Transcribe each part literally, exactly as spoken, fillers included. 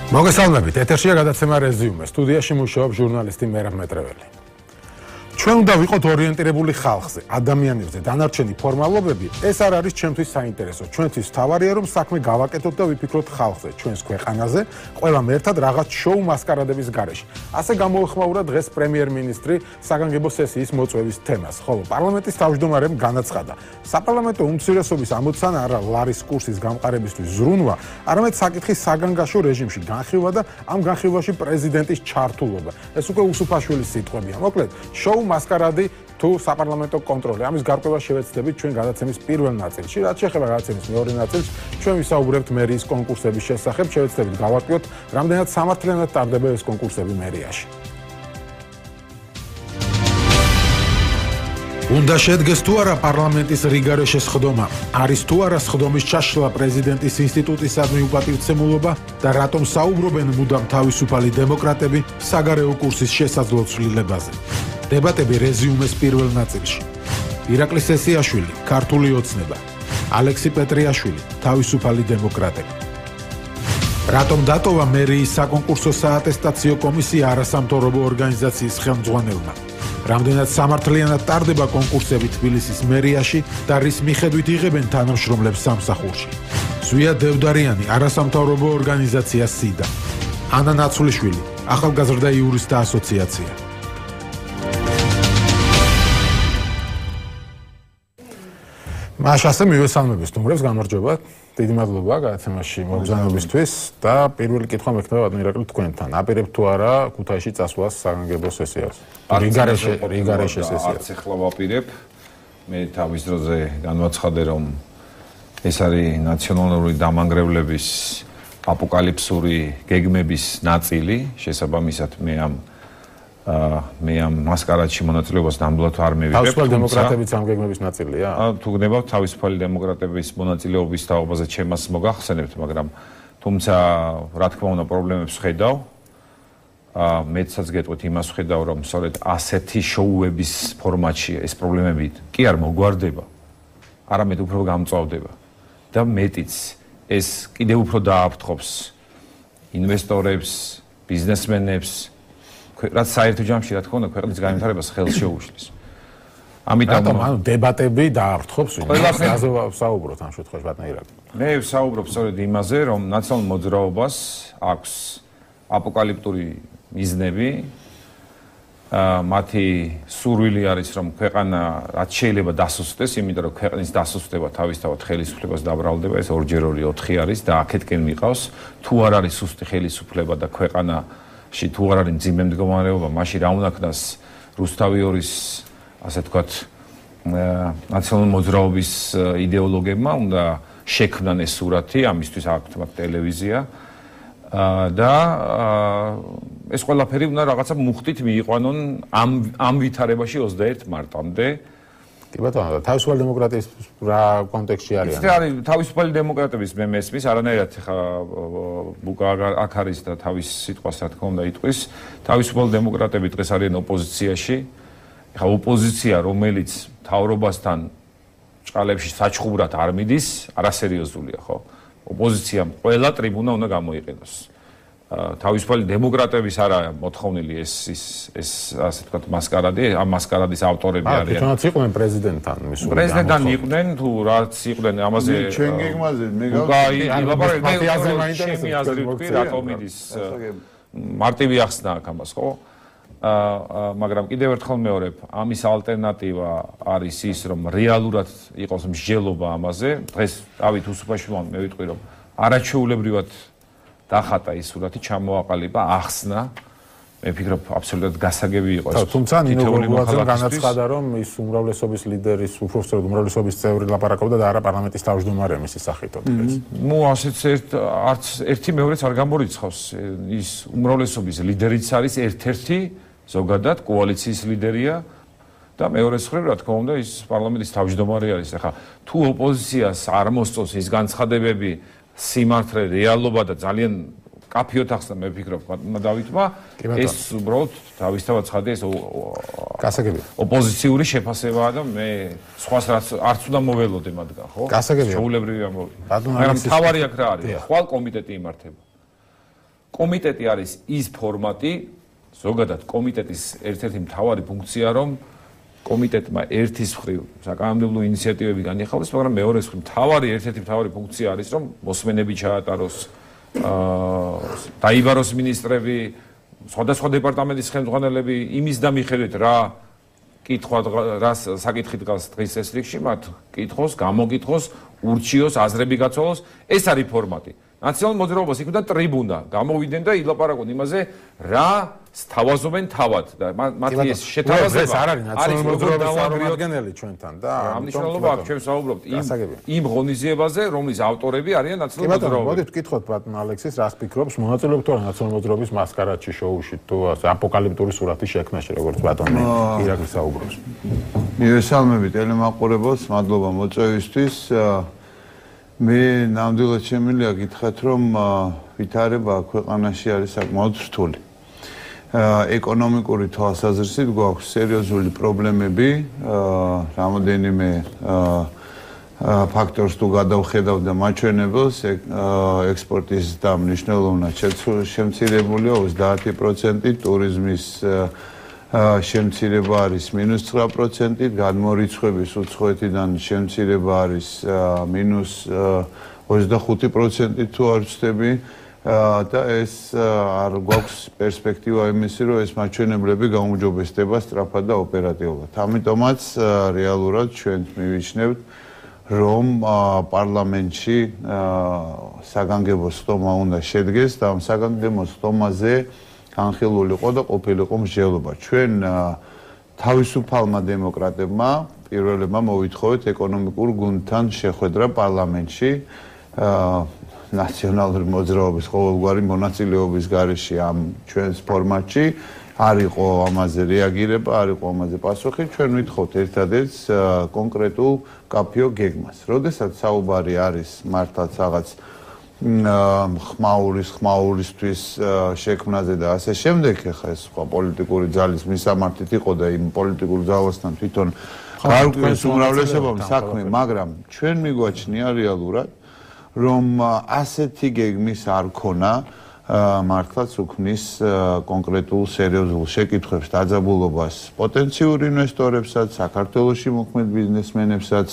მოგესალმებით, ეთერშია გადაცემა რეზიუმე. სტუდიაში მუშაობს ჟურნალისტი მერაბ მეტრეველი. ჩვენ უნდა ვიყოთ ორიენტირებული ხალხზე, ადამიანებზე, დანარჩენი ფორმალობები, ეს არ არის ჩვენთვის საინტერესო. ჩვენთვის თავარია რომ საქმე გავაკეთოთ და ვიფიქროთ ხალხზე, ჩვენს ქვეყანაზე, ყველამ ერთად რაღაც შოუ მასკარადების გარეშე. ასე გამოეხმაურა დღეს პრემიერ-მინისტრი საგანგებო სესიის მოწვევის თემას, ხოლო პარლამენტის თავმჯდომარემ განაცხადა, საპარლამენტო უმცირესობის ამოცანა არა ლარის კურსის გამყარებისთვის ზრუნვა, არამედ საკითხის საგანგაშო რეჟიმში განხილვა და ამ განხილვაში პრეზიდენტის ჩართულობა. ეს უკვე უსუფაშვილის სიტყვებია. მოკლედ, შოუ მასკარადი თუ საპარლამენტო კონტროლი. ამის გარკვევა შევეცდებით ჩვენ გადაცემის პირველ ნაწილში. რაც შეეხება გადაცემის მეორე ნაწილს, ჩვენ ვისაუბრებთ მერიის კონკურსების შესახებ, შევეცდებით გავარკვიოთ, რამდენად სამართლიანად ტარდება ეს კონკურსები მერიაში. უნდა შედგეს თუ არა პარლამენტის რიგარეშე სხდომა, არის თუ არა სხდომის ჩაშლა პრეზიდენტის ინსტიტუტისადმი უპატივცემულობა და რატომ საუბრობენ მუდამ თავისუფალი დემოკრატები საგარეო კურსის შესაძლო ცვლილებაზე. დებატები რეზიუმეს პირველ ნაწილში. ირაკლი სესიაშვილი, ქართული ოცნება. ალექსი პეტრიაშვილი, თავისუფალი დემოკრატები. რატომ დატოვა მერიის საკონკურსო საატესტაციო კომისია არასამთავრობო ორგანიზაციის ხელმძღვანელმა? რამდენად სამართლიანად ტარდება კონკურსები თბილისის მერიაში და რის მიხედვით იღებენ თანამშრომლებს სამსახურში? ზვია დევდარიანი, არასამთავრობო ორგანიზაცია სიდა. ანა ნაცვლიშვილი, ახალგაზრდა იურისტთა ასოციაცია. მაშასე მივესალმები სტუმრებს, გამარჯობა. დიდი მადლობა გადაცემაში მოგზაურობისთვის და პირველი კითხვა მექნება ბატონ ირაკლი თქვენთან. აპირებთ თუ არა ქუთაისში წასვლას საგანგებო სესიას? რიგარეშე რიგარეშე სესიას. არც ახლა ვაპირებ. მე თავის დროზე განვაცხადე რომ ეს არის ნაციონალური დამანგრევლების აპოკალიფსური გეგმების ნაწილი, შესაბამისად მე ამ მე ამ მასკარადში მონაწილეობას ნამდვილად არ მივიღებ. თავისუფალი დემოკრატებიც ამ გეგმების ნაწილია? თუ გნებავთ თავისუფალი დემოკრატების მონაწილეობის თაობაზე ჩემას მოგახსენებთ, მაგრამ თუმცა რა თქმა უნდა პრობლემებს ხედავ. მეცაც გეტყვით იმას ხედავ, რომ სწორედ ასეთი შოუების ფორმატში ეს პრობლემები კი არ მოგვარდება, არამედ უფრო გამწვავდება და მეტიც ეს კიდევ უფრო დააფრთხობს ინვესტორებს, ბიზნესმენებს, რაც საერთო ჯამში რა თქმა უნდა ქვეყნის განვითარებას ხელს შეუშლის. ამიტომ ანუ დებატები დააფრთხობს ყველაფერზე საუბრობთ ამ შემთხვევაში ბატონ ირაკლი. მე ვსაუბრობ სწორედ იმაზე, რომ ნაციონალურ მოძრაობას აქვს აპოკალიფტური მიზნები. მათი სურვილი არის რომ ქვეყანა რაც შეიძლება დასუსტდეს, იმიტომ რომ ქვეყნის დასუსტება თავისთავად ხელისუფლებას დაბრალდება, ეს ორჯერ ორი ოთხი არის და აქეთკენ მიყავს, თუ არ არის სუსტი ხელისუფლება და ქვეყანა ში თუ არ არის მძიმე მდგომარეობა, მაშინ რა უნდა ქნას რუსთავი ორის, ასე თქვათ, ნაციონალური მოძრაობის იდეოლოგებმა უნდა შექმნან ეს სურათი, ამისთვის აქვთ მათ ტელევიზია და ეს ყველაფერი უნდა რაღაცა მუხტით მიიყვანონ ამ ამ ვითარებაში ოცდაერთ მარტამდე. კი ბატონო, თავისუფალი დემოკრატიის რა კონტექსტში არის? ეს არის თავისუფალი დემოკრატების მე მესმის, არანაირად ხა ბუკა აქ არის და თავის სიტყვას რა თქმა უნდა იტყვის. თავისუფალი დემოკრატები დღეს არიან ოპოზიციაში. ხა ოპოზიცია, რომელიც მთავრობასთან ჭყალებში საჩხუბრად არ მიდის, არასერიოზულია, ხო? ოპოზიციამ ყველა ტრიბუნა უნდა გამოიყენოს. თავისუფალი დემოკრატების არა მოთხოვნილი ეს ის ეს ასე ვთქვათ მასკარადი, ამ მასკარადის ავტორები არიან. თვითონაც იყვნენ პრეზიდენტთან მისული. პრეზიდენტთან იყვნენ თუ რაც იყვნენ ამაზე ჩვენ გეგმაზე მე გავიგე რატომ მიდის მარტივი ახსნა აქ ამას, ხო? მაგრამ კიდევ ერთხელ მეორებ, ამის ალტერნატივა არის ის, რომ რეალურად იყოს მსჯელობა ამაზე. დღეს დავით უსუფაშვილმა მე ვიტყვი, რომ არაჩვეულებრივად დახატა ის სურათი, ჩამოაყალიბა, ახსნა. მე ვფიქრობ, აბსოლუტურად გასაგები იყო ეს. თუმცა ნინო გოგუაძემ განაცხადა, რომ ის უმრავლესობის ლიდერის, უბრალოდ უმრავლესობის წევრი ლაპარაკობდა და არა პარლამენტის თავმჯდომარე მისის სახითო დღეს. ნუ ასეც ერთ არც ერთი მეორეც არ გამორიცხავს. ის უმრავლესობის ლიდერიც არის ერთ-ერთი ზოგადად კოალიციის ლიდერია და მეორეს მხრივ რა თქმა უნდა ის პარლამენტის თავმჯდომარე არის. ახლა თუ ოპოზიციას არ მოსწონს ის განცხადებები, სიმართლე, რეალობა და ძალიან კაფიოთ ახსნა მე ვფიქრობ დავითმა ეს უბრალოდ თავისთავად ცხადია ეს გასაგებია ოპოზიციური შეფასებაა და მე სხვას არც უნდა მოველოდე მათგან ხო გასაგებია შეულებრივი ამბავი მაგრამ თავარი აქ რა არის ხვალ კომიტეტი იმართება კომიტეტი არის ის ფორმატი, ზოგადად კომიტეტის ერთ-ერთი მთავარი ფუნქცია, რომ კომიტეტმა ერთის მხრივ საკანონმდებლო ინიციატივები განიხილოს, მაგრამ მეორეს მხრივ მთავარი ერთ-ერთი მთავარი ფუნქცია არის, რომ მოსმენები ჩაატაროს, აა დაიბაროს მინისტრები, სხვადასხვა დეპარტამენტის ხელმძღვანელები იმის და მიხედვით რა კითხვა რა საკითხი დგას დღის ეს რიგში, მათ კითხოს, გამოკითხოს, ურჩიოს, აზრები გაცვალოს, ეს არის ფორმატი. ნაციონალურ მოძრაობას იქნება ტრიბუნა, გამოვიდნენ და ილაპარაკონ იმაზე, რა სთავაზობენ თავად და მათი ეს შეთავაზება ეს არ არის ნაციონალური მოძრაობის წარმომადგენელი ჩვენთან და ამ მნიშვნელობა აქვს ჩვენ საუბრობთ იმ იმ ღონისძიებაზე, რომლის ავტორები არიან ნაციონალური მოძრაობა. მოდით ვკითხოთ ბატონ ალექსის, რას ფიქრობს, მონაწილეობთ თუ არა ნაციონალური მოძრაობის მასკარადში შოუში თუ აპოკალიფტური სურათის შექმნაში, როგორც ბატონი ირაკლი საუბრობს. მივესალმები ტელემაყურებელს, მადლობა მოწვევისთვის. მე ნამდვილად შემიძლია გითხრათ, რომ ვითარება ქვეყანაში არის საკმაოდ რთული. ეკონომიკური თვალსაზრისით გვაქვს სერიოზული პრობლემები, რამოდენიმე ფაქტორს თუ გადავხედავ და მაჩვენებელს, ექსპორტის და მნიშვნელოვნად შემცირებულია ოცდაათი პროცენტი, ტურიზმის შემცირება არის მინუს ცხრა პროცენტი, გადმორიცხვების უცხოეთიდან შემცირება არის მინუს ოცდახუთი პროცენტი თუ არ ვცდები და ეს არ გვაქვს პერსპექტივა იმისი, რომ ეს მაჩვენებლები გაუმჯობესდება სწრაფად და ოპერატიულად. ამიტომაც რეალურად ჩვენ მივიჩნევთ, რომ პარლამენტში საგანგებო სტომა უნდა შედგეს და ამ საგანგებო სტომაზე განხილულიყო და ყოფილიყო მსჯელობა. ჩვენ თავისუფალმა დემოკრატებმა პირველებმა მოვითხოვეთ ეკონომიკურ გუნდთან შეხვედრა პარლამენტში ნაციონალური მოძრაობის ყოველგვარი მონაწილეობის გარეშე ამ ჩვენს ფორმატში. არ იყო ამაზე რეაგირება, არ იყო ამაზე პასუხი. ჩვენ ვითხოვთ ერთადერთ კონკრეტულ კაფეო გეგმას. როდესაც საუბარი არის მართლაც რაღაც ხმაურის ხმაურისთვის შექმნაზე და ასე შემდეგ, ხა ეს სხვა პოლიტიკური ძალის მისამართით იყო და იმ პოლიტიკურ ძალასთან თვითონ გარკვეულს უმრავლესობამ საქმე, მაგრამ ჩვენ მიგვაჩნია რეალურად, რომ ასეთი გეგმის არ ქონა მართლაც უქმნის კონკრეტულ სერიოზულ შეკითხვებს დაძაბულობას პოტენციურ ინვესტორებსაც, საქართველოში მოქმედ ბიზნესმენებსაც,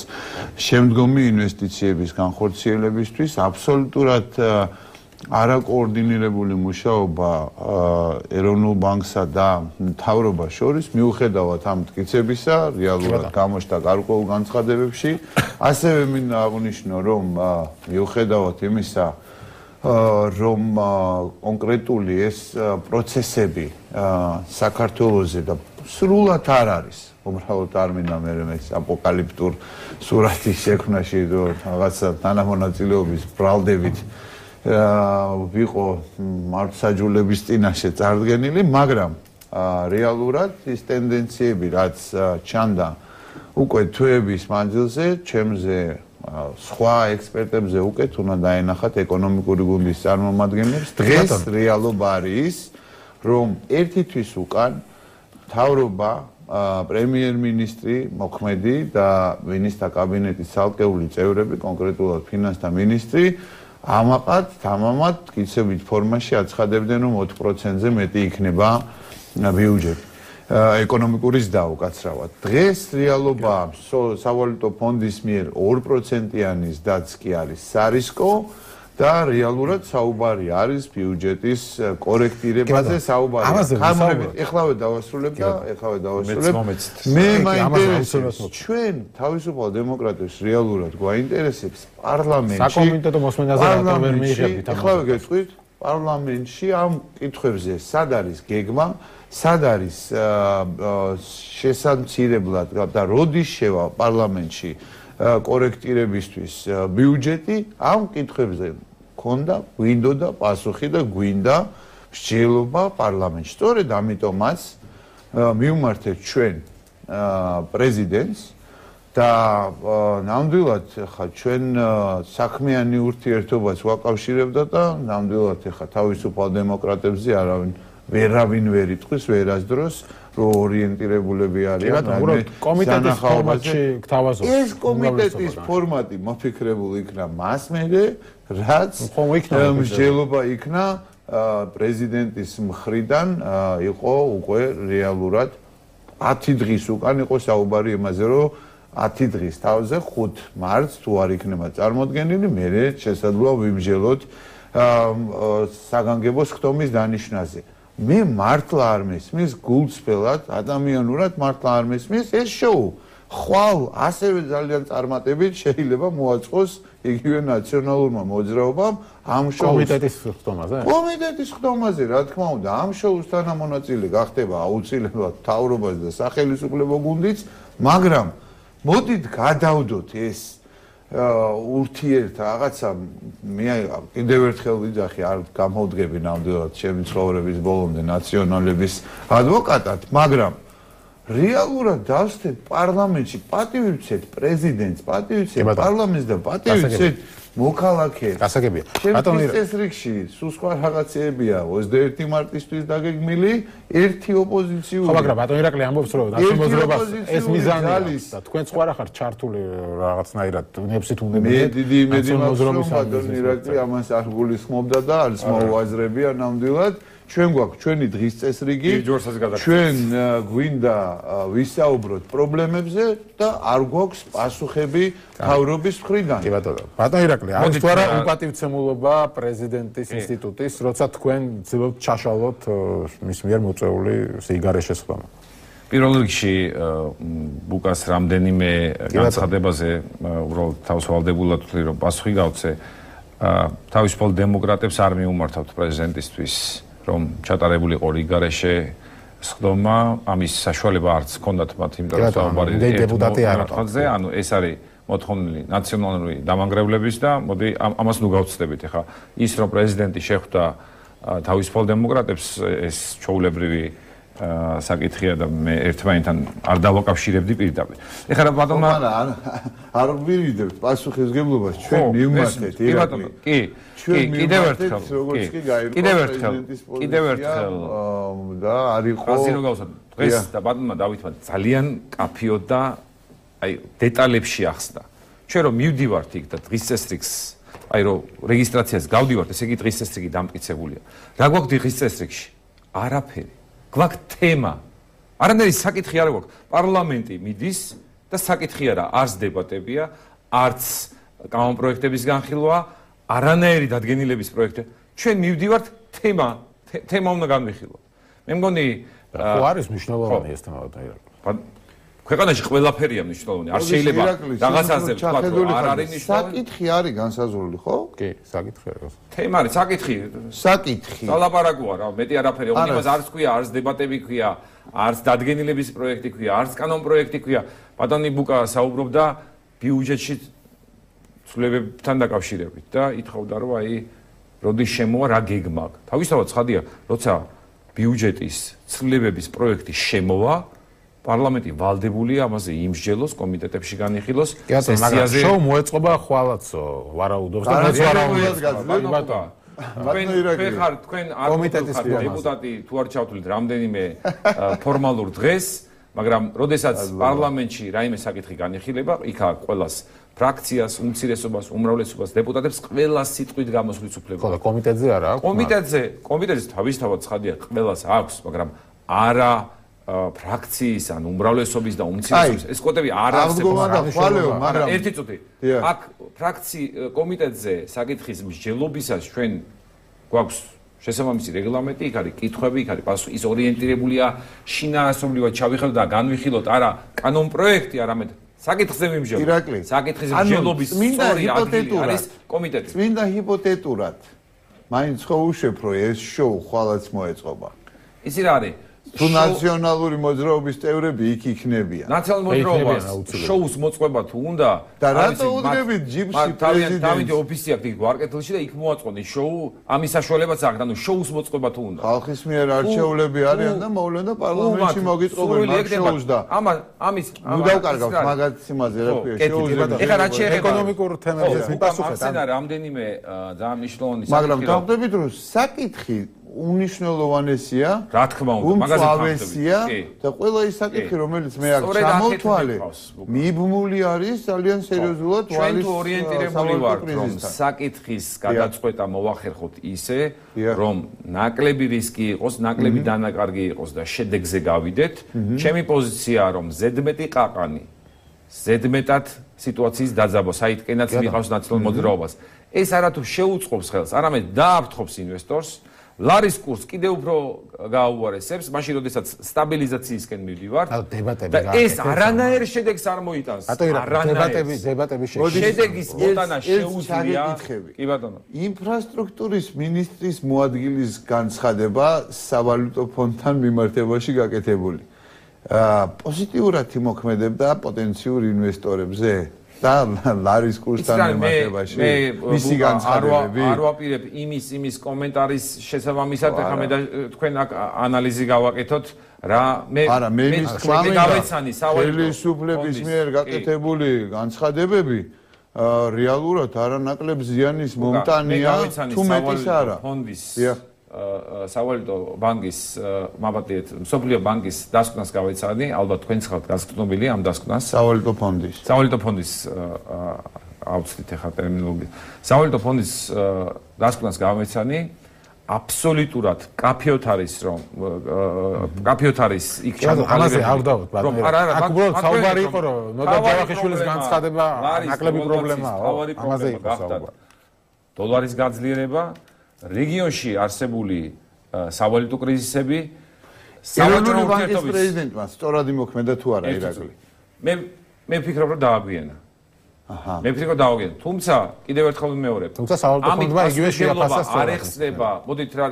შემდგომი ინვესტიციების განხორციელებისთვის აბსოლუტურად არაკოორდინირებული მუშაობა ეროვნულ ბანკსა და მთავრობას შორის მიუხედავად ამ მტკიცებისა, რეალურად გამოჩნდა გარკვეულ განცხადებებში. ასევე მინდა აღვნიშნო, რომ მიუხედავად იმისა, რომ კონკრეტული ეს პროცესები საქართველოზე და სრულად არ არის, უბრალოდ არ მინდა მე ეს აპოკალიფტურ სურათის შექმნაში რაღაცა თანამონაწილეობის ბრალდებით ვიყო მართლმსაჯულების წინაშე წარდგენილი, მაგრამ რეალურად ის ტენდენციები, რაც ჩანდა უკვე თვეების მანძილზე, ჩემზე სხვა ექსპერტებზე უკეთ უნდა დაენახათ ეკონომიკური გუნდის წარმომადგენლებს. დღეს რეალობა არის, რომ ერთი თვის უკან მთავრობა, პრემიერ-მინისტრი მოქმედი და მინისტრთა კაბინეტის ცალკეული წევრები, კონკრეტულად ფინანსთა მინისტრი, ამაყად თამამად მტკიცებით ფორმაში აცხადებდნენ, რომ ოთხ პროცენტზე მეტი იქნება ბიუჯეტი. ეკონომიკური ზრდა უკაცრავად. დღეს რეალობა სავალუტო ფონდის მიერ ორ პროცენტიანი ზრდაც კი არის სარისკო და რეალურად საუბარი არის ბიუჯეტის კორექტირებაზე საუბარი. ეხლავე დავასრულებ და ეხლავე დავასრულებ. მე მაინტერესებს ჩვენ თავისუფალ დემოკრატებს რეალურად გვაინტერესებს პარლამენტში საკომიტეტო მოსმენაზე რატომ ვერ მიიღებთ ამას? ეხლავე გეტყვით პარლამენტში ამ კითხვებზე სად არის გეგმა, სად არის შესამცირებლად და როდის შევა პარლამენტში კორექტირებისთვის ბიუჯეტი, ამ კითხვებზე ქონდა, გვინდოდა პასუხი და გვინდა მსჯელობა პარლამენტში. სწორედ ამიტომაც მივმართეთ ჩვენ პრეზიდენტს და ნამდვილად ხა ჩვენ საქმიანი ურთიერთობაც ვაკავშირებდა და ნამდვილად ხა თავისუფალ დემოკრატებზე არავინ ვერავინ ვერ იტყვის ვერასდროს რომ ორიენტირებულები არიან კომიტეტის ფორმატში გთავაზობთ. ეს კომიტეტის ფორმატი მოფიქრებული იქნა მას მერე, რაც მსჯელობა იქნა პრეზიდენტის მხრიდან იყო უკვე რეალურად ათი დღის უკან იყო საუბარი იმაზე, რომ ათი დღის თავზე ხუთ მარტს თუ არ იქნება წარმოდგენილი, მერე შესაძლოა ვიმსჯელოთ საგანგებო სხდომის დანიშნაზე. მე მართლა არ მესმის გულწრფელად, ადამიანურად მართლა არ მესმის ეს შოუ. ხვალ ასევე ძალიან წარმატებით შეიძლება მოაწყოს იგივე ნაციონალურმა მოძრაობამ ამ შოუს კომიტეტის ხდომაზე? კომიტეტის ხდომაზე, რა თქმა უნდა, ამ შოუს თანამონაწილე გახდება აუცილებლად მთავრობას და სახელმწიფო გუნდიც, მაგრამ მოდით გადავდოთ ეს ურთიერთ რაღაცა მე კიდევ ერთხელ ვიძახი არ გამოვდგები ნამდვილად ჩემი ცხოვრების ბოლომდე ნაციონალების ადვოკატად, მაგრამ რეალურად დავსწრეთ პარლამენტში, პატივი ვცეთ პრეზიდენტს, პატივი ვცეთ პარლამენტს და პატივი ვცეთ მოქალაქეებს. გასაგებია. ბატონო წესრიგში სულ სხვა რაღაცეებია ოცდაერთი მარტისთვის დაგეგმილი ერთი ოპოზიციური. ხო, მაგრამ ბატონო ირაკლი ამბობს რომ ნაციონალურობას ეს მიზანი აქვს და თქვენ სხვა რა ხარ ჩართული რაღაცნაირად ნებსით უნდა მე დიდი იმედი მაქვს რომ ბატონო ირაკლი ამას არ გულისხმობდა და არც მოუაზრებია ნამდვილად. ჩვენ გვაქვს ჩვენი დღის წესრიგი, ჩვენ გვინდა ვისაუბროთ პრობლემებზე და არ გვაქვს პასუხები თავრობის მხრიდან. კი ბატონო. ბატონო ირაკლი, არის თუ არა უპატივცემულობა პრეზიდენტის ინსტიტუტის, როცა თქვენ ცდილობთ ჩაშალოთ მის მიერ მოწეული სიგარეშე სხდომა? პირველ რიგში ბუკას რამდენიმე განცხადებაზე უბრალოდ თავისუფალდებულად ვთვლი რომ პასუხი გავცე. თავისუფალ დემოკრატებს არ მიუმართავთ პრეზიდენტისთვის რომ ჩატარებული იყო რიგარეშე სხდომა, ამის საშუალება არც ჰქონდათ მათ, იმიტომ რომ საუბარი დეპუტატი არ არის. ანუ ეს არის მოთხოვნილი ნაციონალური დამანგრევლების და მოდი ამას ნუ გავცდებით. ეხლა ის რომ პრეზიდენტი შეხვდა თავისუფალ დემოკრატებს, ეს ჩვეულებრივი საკითხია და მე ერთმანეთთან არ დავაკავშირებდი პირდაპირ. ეხლა რა ბატონმა არ ვირიდებთ პასუხისმგებლობას ჩვენ მივმართეთ ირაკლი. კი, კი, კიდევ ერთხელ, კიდევ ერთხელ, კიდევ ერთხელ და არ იყო ასე რომ გავუსვათ. დღეს და ბატონმა დავითმა ძალიან კაფიოდ და აი დეტალებში ახსნა. ჩვენ რომ მივდივართ იქ და დღის წესრიგს აი რომ რეგისტრაციას გავდივართ, ესე იგი დღის წესრიგი დამტკიცებულია. რა გვაქვს დღის წესრიგში? არაფერი. გვაქვს თემა. არანაირი საკითხი არ გვაქვს. პარლამენტი მიდის და საკითხი არა, არც დებატებია, არც კანონპროექტების განხილვა, არანაირი დადგენილების პროექტი. ჩვენ მივდივართ თემა, თემა უნდა განვიხილოთ. მე მგონი ხო არის მნიშვნელოვანი ეს თემა და ქვეყანაში ყველაფერია მნიშვნელოვანი. არ შეიძლება რაღაცაზე ვთქვა რომ არ არის მნიშვნელოვანი. საკითხი არის განსაზღვრული, ხო? კი, საკითხი არის. თემა არის, საკითხი. საკითხი. სალაპარაკოა რა, მეტი არაფერი. ოღონდ იმას არც ქვია, არც დებატები ქვია, არც დადგენილების პროექტი ქვია, არც კანონპროექტი ქვია. ბატონი ბუკა საუბრობდა ბიუჯეტში ცვლილებებთან დაკავშირებით და ითხოვდა რომ აი როდის შემოვა რა გეგმა აქვს. თავისთავად ცხადია, როცა ბიუჯეტის ცვლილებების პროექტი შემოვა, პარლამენტი ვალდებულია ამაზე იმსჯელოს, კომიტეტებში განიხილოს, სესიაზე. შოუ მოეწყობა ხვალაცო, ვარაუდობს და მეც ვარაუდობ. ბატონო თქვენ ხარ თქვენ არ კომიტეტის დეპუტატი თუ არ ჩავთვლით რამდენიმე ფორმალურ დღეს, მაგრამ როდესაც პარლამენტში რაიმე საკითხი განიხილება, იქ აქვს ყველას ფრაქციას, უმცირესობას, უმრავლესობას, დეპუტატებს ყველას სიტყვით გამოსვლის უფლება. ხო და კომიტეტზე არა აქვს? კომიტეტზე, კომიტეტზე თავისთავად ცხადია, ყველას აქვს, მაგრამ არა ფრაქციის ან უმრავლესობის და უმცირესობის ეს კოდები არ არსებობს. მაგრამ ერთი წუთი. აქ ფრაქცი კომიტეტზე საკითხის მსჯელობისას ჩვენ გვაქვს შესაბამისი რეგლამენტი, იქ არის კითხვები, იქ არის პასუხი, ის ორიენტირებულია შინაარსობრივად ჩავიხელოთ და განვიხილოთ არა კანონპროექტი, არამედ საკითხზე მიმსჯელო. საკითხის მსჯელობის სწორი ადგილი არის კომიტეტი. წმინდა ჰიპოთეტურად მაინც ხო უშვებ რომ ეს შოუ ხვალაც მოეწყობა. ისი რა არის? თუ ნაციონალური მოძრაობის წევრები იქ იქნებიან. ნაციონალური მოძრაობას შოუს მოწყობა თუ უნდა და რატო უდგებით ჯიპში პრეზიდენტს? თავისი ოფისი აქვს იქ ვარკეთილში და იქ მოაწყონეს შოუ, ამის საშუალებაც აქვს, ანუ შოუს მოწყობა თუ უნდა. ხალხის მიერ არჩეულები არიან და მოვლენ და პარლამენტში მოგიწყობენ მაგ შოუს და ამას ამის ნუ დავკარგავთ მაგათ სიმაზე რა ქვია შოუს და ეხლა რაც შეეხება ეკონომიკურ თემებზე მიპასუხეთ. ამ რამდენიმე ძალიან მნიშვნელოვანი მაგრამ დავხვდებით რომ საკითხი უნიშნელოვანესია. რა თქმა უნდა, მაგაზე უმწვავესია და ყველა ის საკითხი, რომელიც მე აქ ჩამოვთვალე, მიბმული არის ძალიან სერიოზულად ვალის ჩვენ ორიენტირებული ვართ, რომ საკითხის გადაწყვეტა მოვახერხოთ ისე, რომ ნაკლები რისკი იყოს, ნაკლები დანაკარგი იყოს და შედეგზე გავიდეთ. ჩემი პოზიციაა, რომ ზედმეტი ყაყანი ზედმეტად სიტუაციის დაძაბვა, საითკენაც მიყავს ნაცნობ მოძრაობას. ეს არათუ შეუწყობს ხელს, არამედ დააფრთხობს ინვესტორს. ლარის კურსს კიდევ უფრო გააუარესებს, მაშინ როდესაც სტაბილიზაციისკენ მივდივართ. და ეს არანაირ შედეგს არ მოიტანს. დებატები, დებატები შედეგის მოტანა შეუძლია. კი ბატონო. ინფრასტრუქტურის მინისტრის მოადგილის განცხადება სავალუტო ფონდთან მიმართებაში გაკეთებული. პოზიტიურად იმოქმედებდა პოტენციურ ინვესტორებზე და ლარის კურსთან მიმართებაში მისი განცხადებები არ ვაპირებ იმის იმის კომენტარის შესაბამისად ახლა მე და თქვენ აქ ანალიზი გავაკეთოთ რა მე არა მე მის თქმა გავეცანი სავალუტო ხელისუფლების მიერ გაკეთებული განცხადებები რეალურად არანაკლებ ზიანის მომტანია თუ მეტის არა ფონდის სავალუტო ბანკის მაბატიეთ მსოფლიო ბანკის დასკვნას გავეცანი ალბათ თქვენ ხართ გასკვნილი ამ დასკვნას სავალუტო ფონდის სავალუტო ფონდის აუცილებლად ახლა ტერმინოლოგია სავალუტო ფონდის დასკვნას გავეცანი აბსოლუტურად კაფეოთ არის რომ კაფეოთ არის იქ ამაზე არ დავთ ბატონო აქ უბრალოდ საუბარი იყო რომ ნოდა ჯავახიშვილის განცხადება ნაკლები პრობლემაა ამაზე იყო საუბარი დოლარის გაძლიერება რეგიონში არსებული სავალუტო კრიზისები ეროვნული ბანკის პრეზიდენტმა სწორად იმოქმედა თუ არა ირაკლი მე მე ვფიქრობ რომ დააგვიანა აჰა მე ვფიქრობ რომ დააგვიანა თუმცა კიდევ ერთხელ ვიმეორებ თუმცა სავალუტო ფონდმა იგივე შეაფასა სწორად არ ეხსნება მოდით რა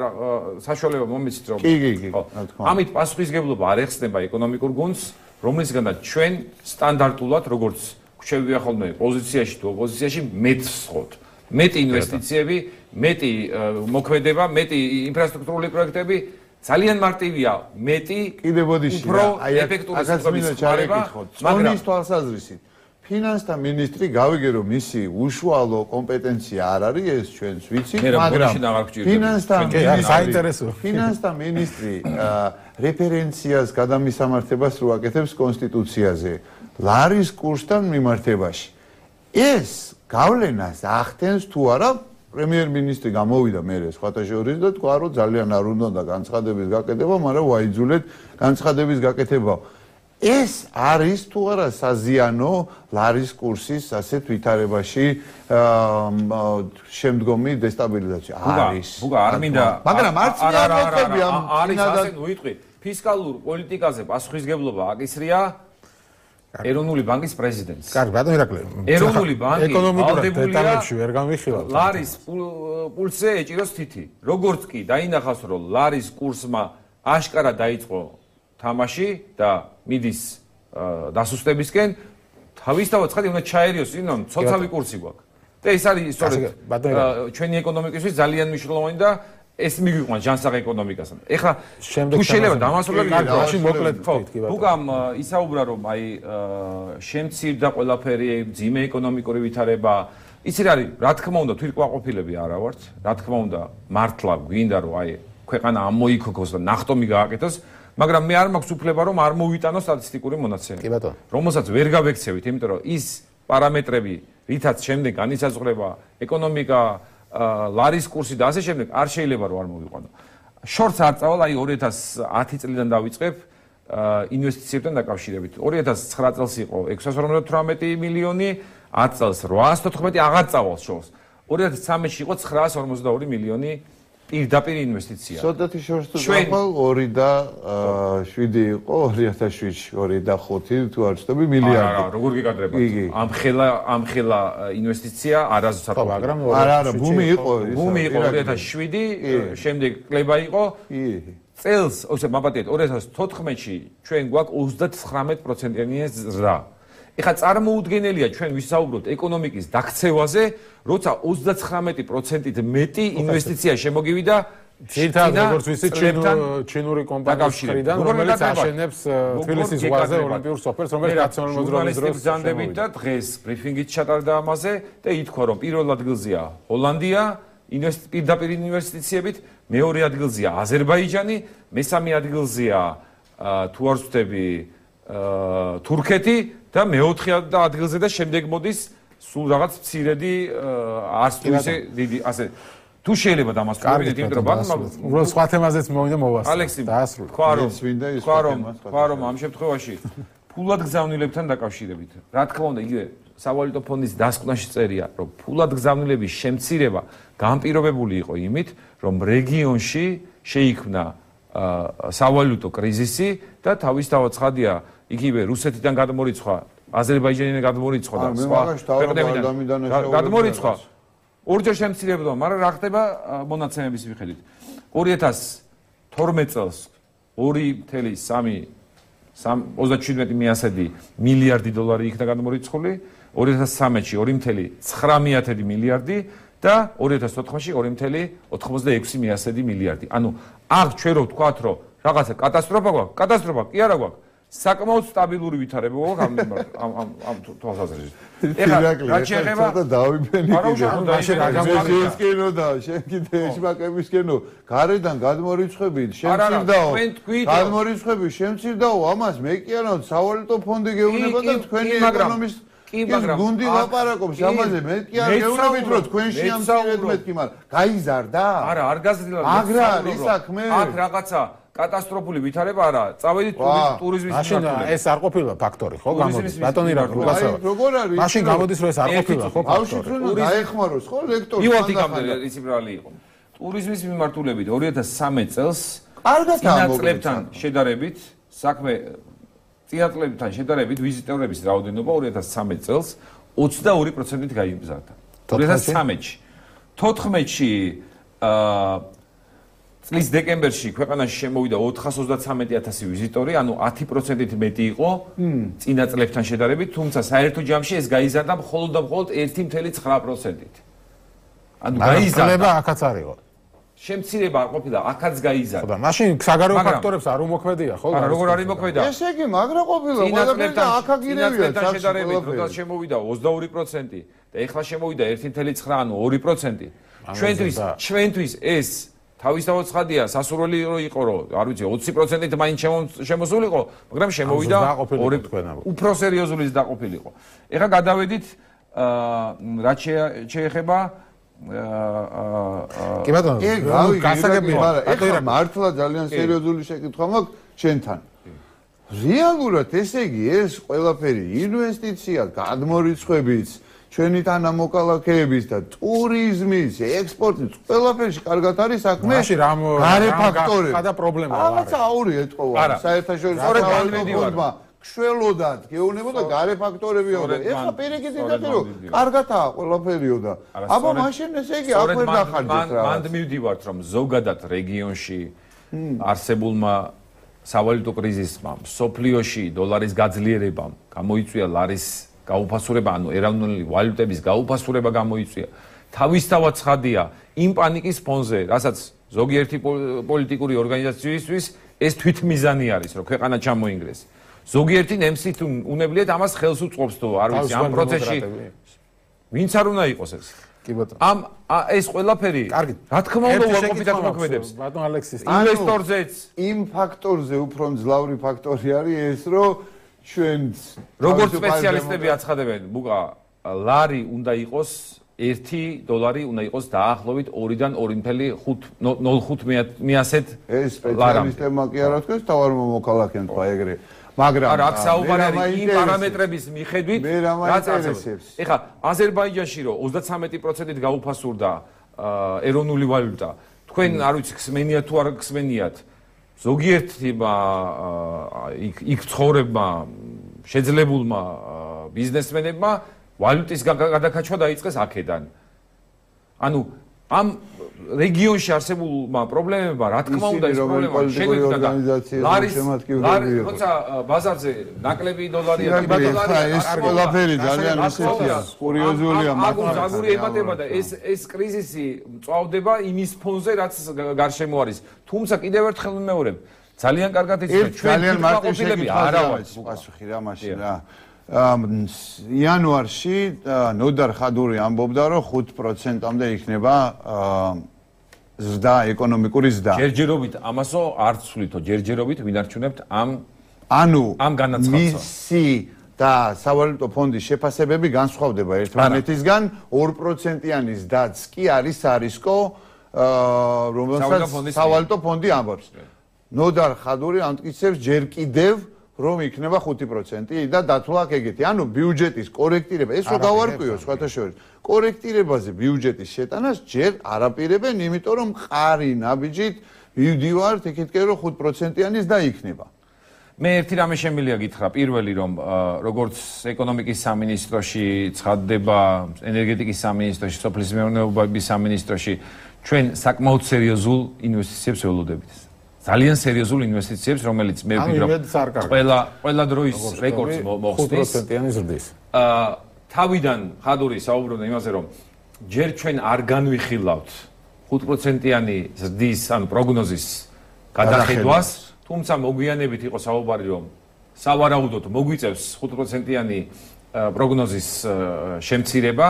საშუალება მომიცით რომ კი კი კი რა თქმა უნდა ამით პასუხისგებლობა არ ეხსნება ეკონომიკურ გუნდს რომლისგანაც ჩვენ სტანდარტულად როგორც გვჩევია ხოლმე პოზიციაში თუ ოპოზიციაში მეტსხოთ მეტი ინვესტიციები მეტი მოქმედება, მეტი ინფრასტრუქტურული პროექტები ძალიან მარტივია, მეტი კიდე ბოდიში უფრო ეფექტური სისტემის ჩარევა, მაგრამ თვალსაზრისით ფინანსთა მინისტრი გავიგე რომ მისი უშუალო კომპეტენცია არ არის ეს ჩვენს ვიცით, მაგრამ ფინანსთა საინტერესო ფინანსთა მინისტრი რეფერენციას გადამისამართებას რო აკეთებს კონსტიტუციაზე ლარის კურსთან მიმართებაში. ეს გავლენას ახდენს თუ არა პრემიერ-მინისტრი გამოვიდა მერე სხვათა შორის და თქვა რომ ძალიან არ უნდა განცხადების გაკეთება, მაგრამ ვაიძულეთ განცხადების გაკეთება. ეს არის თუ არა საზიანო ლარის კურსის ასეთ ვითარებაში შემდგომი დესტაბილიზაცია არის. ბუგა არ მინდა მაგრამ არც არ მოხები ამ არის ასე უიტყვი ფისკალურ პოლიტიკაზე პასუხისგებლობა აკისრია ეროვნული ბანკის პრეზიდენტს. კარგი, ბატონო ირაკლი. ეროვნული ბანკი ეკონომიკურ დეტალებში ვერ გამიხილავთ. ლარის პულსზე ეჭიროს თითი. როგორც კი დაინახავს, რომ ლარის კურსმა აშკარა დაიწყო თამაში და მიდის დასუსტებისკენ, თავისთავად ცხადი უნდა ჩაერიოს, ინონ ცოცხალი კურსი გვაქვს. და ეს არის სწორედ ჩვენი ეკონომიკისთვის ძალიან მნიშვნელოვანი და ეს მიგვიყვანს ჯანსაღ ეკონომიკასთან. ეხლა თუ შეიძლება დამასრულებელი მაშინ მოკლედ თქვით, ბუგამ ისაუბრა რომ აი შემცირდა ყველაფერი, ძიმე ეკონომიკური ვითარება. იცი რა არის, რა თქმა უნდა, თვითკმაყოფილები არა ვართ. რა თქმა უნდა, მართლა გვინდა რომ აი ქვეყანა ამოიქოქოს და ნახტომი გააკეთოს, მაგრამ მე არ მაქვს უფლება რომ არ მოვიტანო სტატისტიკური მონაცემები. კი ბატონო. რომელსაც ვერ გავექცევით, იმიტომ რომ ის პარამეტრები, რითაც შემდეგ განისაზღვრება ეკონომიკა ლარის კურსი და ასე შემდეგ არ შეიძლება რომ არ მოვიყვანო. შორტს არ წავალ, აი ორი ათას ათი წლიდან დავიწყებ ინვესტიციებთან დაკავშირებით. ორი ათას ცხრა წელს იყო ექვსას ორმოცდათვრამეტი მილიონი, ათ წელს რვაას თოთხმეტი აღარ წავალ შორს. ორი ათას ცხრამეტში იყო ცხრაას ორმოცდაორი მილიონი პირდაპირ ინვესტიცია. ცოტათი შორს თუ წავალ ორი და შვიდი იყო ორი ათას შვიდში, ორი და ხუთი თუ არ ვცდები მილიარდი. არა, როგორ გიკადრებათ? ამ ხელა ამ ხელა ინვესტიცია არასდროს არ მაგრამ არა, არა, ბუმი იყო. ბუმი იყო ორი ათას შვიდი, შემდეგ კლება იყო. წელს, ოსე მაბატიეთ ორი ათას თოთხმეტში ჩვენ გვაქვს ოცდათხრამეტ პროცენტიანი ზრდა. ეხლა წარმოუდგენელია ჩვენ ვისაუბროთ ეკონომიკის დაქცევაზე, როცა ოცდათხრამეტი პროცენტით მეტი ინვესტიცია შემოგივიდა ძირითადად როგორც ვიცით ჩინური კომპანიის მხრიდან, რომელიც აშენებს თბილისის ზღვაზე ოლიმპიურ სოფელს, რომელიც ნაციონალური მოძრაობის დროს ზანდებით და დღეს ბრიფინგით ჩატარდა ამაზე და ითქვა რომ პირველ ადგილზეა ჰოლანდია, პირდაპირ ინვესტიციებით, მეორე ადგილზეა აზერბაიჯანი, მესამე ადგილზეა თუ არ ვცდები თურქეთი და მეოთხე ადგილზე და შემდეგ მოდის სულ რაღაც მცირედი არც თუ ისე დიდი ასე თუ შეიძლება დამასრულებინეთ იმიტომ რომ ბანკმა უბრალოდ სხვა თემაზეც მოვიდა მოვასწრე. ალექსი, თქვა რომ თქვა რომ თქვა რომ ამ შემთხვევაში ფულად გზავნილებთან დაკავშირებით. რა თქმა უნდა, იგივე სავალუტო ფონდის დასკვნაში წერია, რომ ფულად გზავნილების შემცირება განპირობებული იყო იმით, რომ რეგიონში შეიქმნა სავალუტო კრიზისი და თავისთავად ცხადია, იგივე რუსეთიდან გადმორიცხვა, აზერბაიჯანიდან გადმორიცხვა და სხვა ქვეყნებიდან გადმორიცხვა ორჯერ შემცირებდა, მაგრამ რა ხდება მონაცემების მიხედვით? ორი ათას თორმეტ წელს ორი ათას ოცდაშვიდ მილიარდი დოლარი იქნა გადმორიცხული, ორი ათას ცხრამეტში ორი ცხრამეტ მილიარდი და ორი ათას ოთხში ორი ოცდაექვსი მილიარდი. ანუ აღ ჩვენ რო ვთქვათ, რომ რაღაცა კატასტროფა გვაქვს, კატასტროფა კი არა გვაქვს. საკმაოდ სტაბილური ვითარება გვაქვს ამ ამ ამ თვალსაზრისით. ეხლა რა შეიძლება და დავიბენი და შენ კიდე ეშმაკებისკენო გარედან გადმორიცხები შემცირდაო გადმორიცხები შემცირდაო ამას მე კი არა სავალუტო ფონდი გეუბნება და თქვენი ეკონომის ის გუნდი ლაპარაკობს ამაზე მე კი არ გეუბნებით რომ თქვენ შეამცირეთ მეთქი მაგრამ გაიზარდა არა არ გაზრდილა აგრა არის საქმე აქ რაღაცა კატასტროფული ვითარება არა, წავედით ტურიზმის მაშინ ეს არ ყოფილა ფაქტორი, ხო, გამოდის. ბატონი რა გულასავ. როგორ არის? მაშინ გამოდის რომ ეს არ ყოფილა, ხო, ფაქტორი. დაეხმაროს, ხო, ლექტორი. იუათიკამდე ისი ბრალი იყო. ტურიზმის მიმართულებით ორი ათას ცხრამეტ წელს კარგად წინაწლებთან შედარებით, საქმე წინაწლებთან შედარებით ვიზიტორების რაოდენობა ორი ათას ცხრამეტ წელს ოცდაორი პროცენტით გაიზარდა. ორი ათას ცხრამეტში. თოთხმეტში აა წლის დეკემბერში ქვეყანაში შემოვიდა ოთხას ოცდაცამეტ ათასი ვიზიტორი, ანუ ათი პროცენტით მეტი იყო წინა წლებთან შედარებით, თუმცა საერთო ჯამში ეს გაიზარდა მხოლოდ და მხოლოდ ერთი წელი ცხრა პროცენტით. ანუ გაიზარდა, აქაც არისო. შემცირება არ ყოფილა, აქაც გაიზარდა. ხო და მაშინ საგარეო ფაქტორებს არ უმოქმედია, ხო? არა, როგორ არის მოქმედა? ესე იგი, მაგრა ყოფილა, ყველაფერთან აქაგირებია, შედარებით, როდესაც შემოვიდა ოცდაორი პროცენტი და ეხლა შემოვიდა ერთი წელი ცხრა, ანუ ორი პროცენტი. ჩვენთვის, ჩვენთვის ეს თავისთავად ცხადია, სასურველი იყო, რომ არ ვიცი, ოცი პროცენტით მაინც შემოსულიყო, მაგრამ შემოვიდა ორი უფრო სერიოზული დაყოფილიყო. ეხლა გადავედით რაც შეეხება კი ბატონო, გასაგებია, მაგრამ ეხლა მართლა ძალიან სერიოზული შეკითხვა მაქვს ჩვენთან. რეალურად ესე იგი ეს ყველაფერი ინვესტიცია, გადმორიცხვებიც ჩვენი თანამოქალაქეების და ტურიზმის, ექსპორტის, ყველაფერში კარგად არის საქმე. მაშინ რამ გარე ფაქტორები. ხადა პრობლემა არა. ამაც აური ეთყობა. საერთაშორისო საავადმყოფოებმა შველოდათ გეუბნებოდა გარე ფაქტორებიო და ეხლა პირიქით იდეა რომ კარგადაა ყველაფერიო და აბა მაშინ ესე იგი აქ ვერ დახარჯეთ რა. მანდ მივდივართ რომ ზოგადად რეგიონში არსებულმა სავალუტო კრიზისმა, სოფლიოში დოლარის გაძლიერებამ გამოიწვია ლარის გაუფასურება, ანუ ეროვნული ვალუტების გაუფასურება გამოიწვია. თავისთავად ცხადია, იმ პანიკის ფონზე, რასაც ზოგიერთი პოლიტიკური ორგანიზაციისთვის ეს თვითმიზანი არის, რომ ქვეყანა ჩამოინგრეს. ზოგიერთი ნემსით უნებლიეთ ამას ხელს უწყობს თუ არ ვიცი ამ პროცესში. ვინც არ უნდა იყოს ეს? კი ბატონო. ამ ეს ყველაფერი, რა თქმა უნდა, უარყოფითად მოქმედებს. ბატონ ალექსის, ინვესტორზეც იმ ფაქტორზე უფრო მძლავრი ფაქტორი არის ეს, რომ ჩვენც როგორც სპეციალისტები აცხადებენ, ბუყა ლარი უნდა იყოს ერთი დოლარი უნდა იყოს დაახლოებით ორიდან ორი წელი ნულ ხუთ მიასეთ ეს სპეციალისტებმა კი არა თქვენს თავარ მოქალაქემ თქვა ეგრე მაგრამ არა აქ საუბარი იმ პარამეტრების მიხედვით რაც არსებობს. ეხლა აზერბაიჯანში რომ ოცდაცამეტი პროცენტით გაუფასურდა ეროვნული ვალუტა, თქვენ არ ვიცი ხსმენიათ თუ არ ხსმენიათ ზოგიერთმა იქ იქ ცხოვრებმა შეძლებულმა ბიზნესმენებმა ვალუტის გადაკაჩვა დაიწყეს აქედან. ანუ ამ რეგიონში არსებულმა პრობლემებმა რა თქმა უნდა ეს პრობლემა შეგვიძლია ლარის როცა ბაზარზე ნაკლები დოლარია და დოლარი ეს ყველაფერი ძალიან ისეთია კურიოზულია მაგრამ აგური ემატება და ეს ეს კრიზისი მწვავდება იმის ფონზე რაც გარშემო არის. თუმცა კიდევ ერთხელ ვიმეორებ, ძალიან კარგად იცით ჩვენ ძალიან მარტივი შეკითხვა არა ვარ პასუხი რა მაშინ რა იანვარში ნოდარ ხადური ამბობდა, რომ ხუთ პროცენტამდე იქნება ზრდა, ეკონომიკური ზრდა. ჯერჯერობით ამასო არ ცვლითო, ჯერჯერობით ვინარჩუნებთ ამ ანუ ამ განაცხადს. მისი და სავალუტო ფონდის შეფასებები განსხვავდება ერთმანეთისგან, ორ პროცენტიანი ზრდაც კი არის არისკო, რომელსაც სავალუტო ფონდი ამბობს. ნოდარ ხადური ამტკიცებს ჯერ კიდევ რომ იქნება ხუთი პროცენტი და დათვლა აქ ეგეთი. ანუ ბიუჯეტის კორექტირება, ეს რო გავარკვიო სხვათა შორის. კორექტირებაზე ბიუჯეტის შეტანას ჯერ არაპირებენ, იმიტომ რომ მყარი ნაბიჯით მივდივართ იქითკენ რომ ხუთ პროცენტიანი ზრდა იქნება. მე ერთი რამე შემიძლია გითხრა, პირველი რომ როგორც ეკონომიკის სამინისტროში ცხადდება, ენერგეტიკის სამინისტროში, სოფლის მეურნეობის სამინისტროში ჩვენ საკმაოდ სერიოზულ ინვესტიციებს ველოდებით. ძალიან სერიოზულ ინვესტიციებს, რომელიც მე ვფიქრობ ყველა ყველა დროის რეკორდს მოხსნის. ხუთ პროცენტიანი ზრდის. აა თავიდან ხადური საუბრობდა იმაზე, რომ ჯერ ჩვენ არ განვიხილავთ ხუთ პროცენტიანი ზრდის, ანუ პროგნოზის გადახედვას, თუმცა მოგვიანებით იყო საუბარი, რომ სავარაუდოდ მოგვიწევს ხუთ პროცენტიანი პროგნოზის შემცირება.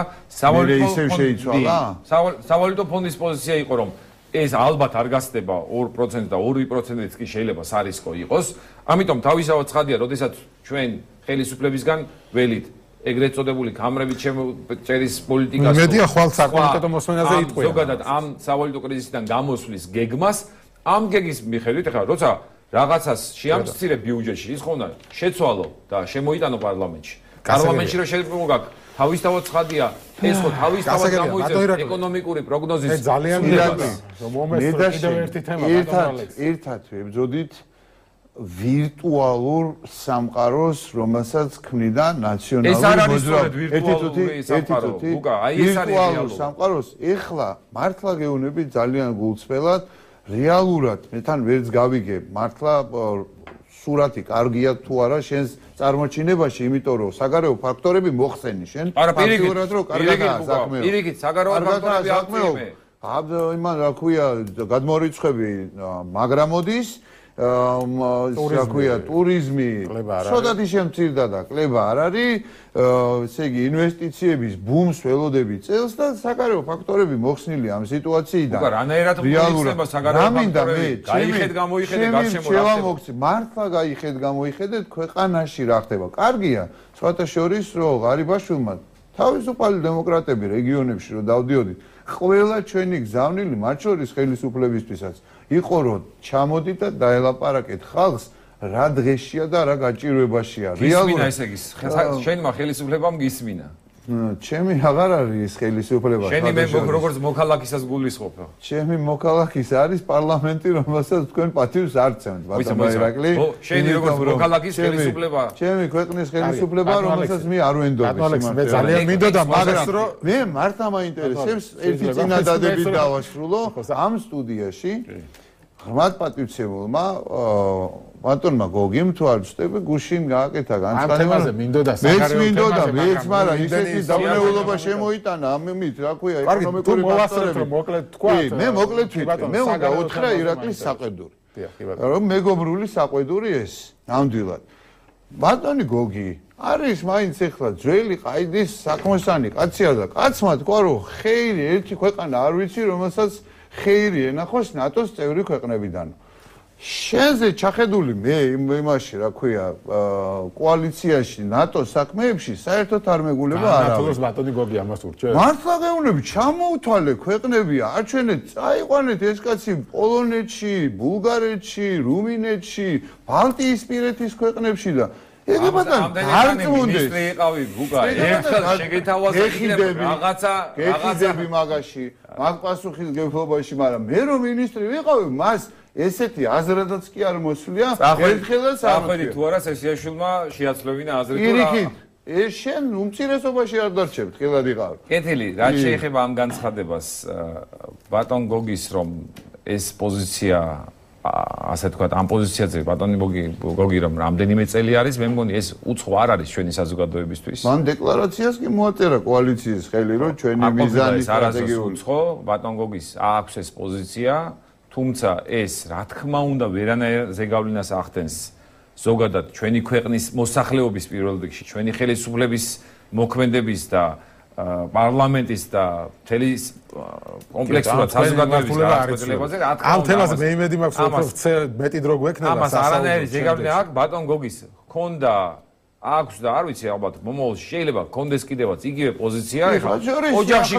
სავალუტო ფონდის პოზიცია იყო, რომ ეს ალბათ არ გასდება ორ პროცენტს და ორი პროცენტიც კი შეიძლება სარისკო იყოს. ამიტომ თავისთავად ცხადია, როდესაც ჩვენ ხელისუფლებისგან ველით ეგრეთ წოდებული კამრებით შემოწერის პოლიტიკას მედია ხვალ საკომიტეტო მოსმენაზე იტყვია. ზოგადად ამ სავალუტო კრიზისიდან გამოსვლის გეგმას, ამ გეგმის მიხედვით ახლა როცა რაღაცას შეამცირებ ბიუჯეტში, ის ხომ უნდა შეცვალო და შემოიტანო პარლამენტში. პარლამენტში რომ შეიძლება გაკ თავისთავად ცხადია, ეს ხო თავისთავად გამოიწევს ეკონომიკური პროგნოზის ძალიან დიდად მომესწრო კიდევ ერთი თემა ბატონო ერთად ვებძოდით ვირტუალურ სამყაროს, რომელსაც ქმნიდა ნაციონალური მოძრაობა. ერთი სამყარო. უკა, აი ეს არის ვირტუალურ სამყაროს ეხლა მართლა გეუბნებით ძალიან გულწრფელად, რეალურად მე თან ვერც გავიგებ, მართლა სურათი კარგია თუ არა შენს წარმოჩინებაში, იმიტომ რომ საგარეო ფაქტორები მოხსენი შენ. ფაქტიურად რომ კარგია საქმე. პირიქით, საგარეო ფაქტორები აქტიურია. აბა იმან რა ქვია, გადმორიცხები მაგრამოდის, რა ქვია, ტურიზმი, შოდათი შემცირდა და კლება არ არის, ესე იგი ინვესტიციების ბუმს ველოდები წელს და საგარეო ფაქტორები მოხსნილი ამ სიტუაციიდან. უკა რანაირად მოიხსნება საგარეო ფაქტორები? გაიხედ გამოიხედე გარშემო რა ხდება? მართლა გაიხედ გამოიხედეთ ქვეყანაში რა ხდება. კარგია, სხვათა შორის რომ ღარიბაშვილმა თავისუფალი დემოკრატები რეგიონებში რომ დავდიოდით, ყველა ჩვენი გზავნილი, მათ შორის ხელისუფლებისთვისაც იყო რომ ჩამოდით და დაელაპარაკეთ ხალხს რა დღეშია და რა გაჭირვებაშია. რეალურად ესე იგი შენმა ხელისუფლებამ გისმინა. ჩემი აღარ არის ხელისუფლება. შენი მე როგორც მოქალაქისას გულისხმობ. ჩემი მოქალაქის არის პარლამენტი, რომელსაც თქვენ პატივს არ ცემთ, ბატონო ირაკლი. შენი როგორც მოქალაქის ხელისუფლება. ჩემი ქვეყნის ხელისუფლება, რომელსაც მე არ ვენდობ. მე ძალიან მინდოდა მაგას რომ მე მართლა მაინტერესებს ერთი წინადადებით დავასრულო ამ სტუდიაში. ღრმად პატივცემულმა ბატონმა გოგიმ თუ არ ვწდები გუშინ გააკეთა განცხადება. ამაზე მინდოდა საგარეო თემაზე. მეც მინდოდა, მეც, მაგრამ ისეთი დავნეულობა შემოიტანა ამით, რა ქვია, ეკონომიკური ფაქტორები. მოკლედ თქვა. მე მოკლედ ვიტყვი, მე უნდა უთხრა ირაკლის საყვედური. რომ მეგობრული საყვედური ეს, ნამდვილად. ბატონი გოგი არის მაინც ეხლა ძველი ყაიდის საქმოსანი კაცია და კაცმა თქვა რომ ხეირი ერთი ქვეყანა არ ვიცი, რომელსაც ხეირი ენახოს ნატოს წევრი ქვეყნებიდან. შენზე ჩახედული მე იმაში რა ქვია კოალიციაში ნატოს საქმეებში საერთოდ არ მეგულება არა. ნატოს ბატონი გოგი ამას ურჩევს. მართლა გეუბნები, ჩამოუთვალე ქვეყნები, აჩვენეთ, წაიყვანეთ ეს კაცი პოლონეთში, ბულგარეთში, რუმინეთში, ბალტიისპირეთის ქვეყნებში და ეგ ბატონო დარწმუნდეს. მინისტრი იყავი ბუკა, ერთხელ შეგეთავაზებინებ რაღაცა, რაღაცები მაგაში, მაგ პასუხისგებლობაში, მაგრამ მე რომ მინისტრი ვიყავი, მას ესეთი აზრადაც კი არ მოსვლია, ერთხელაც არ მოხდა. თუ არა სესიაშვილმა შეაცვლებინა აზრი თუ რა. პირიქით, ეს შენ უმცირესობაში არ დარჩებ, თქილად იყავ. კეთილი, რა შეეხება ამ განცხადებას ბატონ გოგის რომ ეს პოზიცია ასე თქვა, ამ პოზიციაზე ბატონი გოგი რომ რამდენიმე წელი არის, მე მგონი ეს უცხო არ არის ჩვენი საზოგადოებისთვის. მან დეკლარაციას კი მოაწერა კოალიციის ხელი, რომ ჩვენი მიზანი სტრატეგიული. უცხო ბატონ გოგის აქვს ეს პოზიცია, თუმცა ეს რა თქმა უნდა ვერანაირ ზეგავლენას ახდენს ზოგადად ჩვენი ქვეყნის მოსახლეობის პირველ რიგში, ჩვენი ხელისუფლების მოქმედების და პარლამენტის და მთელი კომპლექსურად საზოგადოების განხორციელებაზე ამ თემაზე მე იმედი მაქვს უფრო მეტი დრო გვექნება ამას არანაირი ზეგავლენა აქვს ბატონ გოგის ქონდა აქვს და არ ვიცი ალბათ მომავალში შეიძლება ქონდეს კიდევაც იგივე პოზიცია ეხლა ოჯახში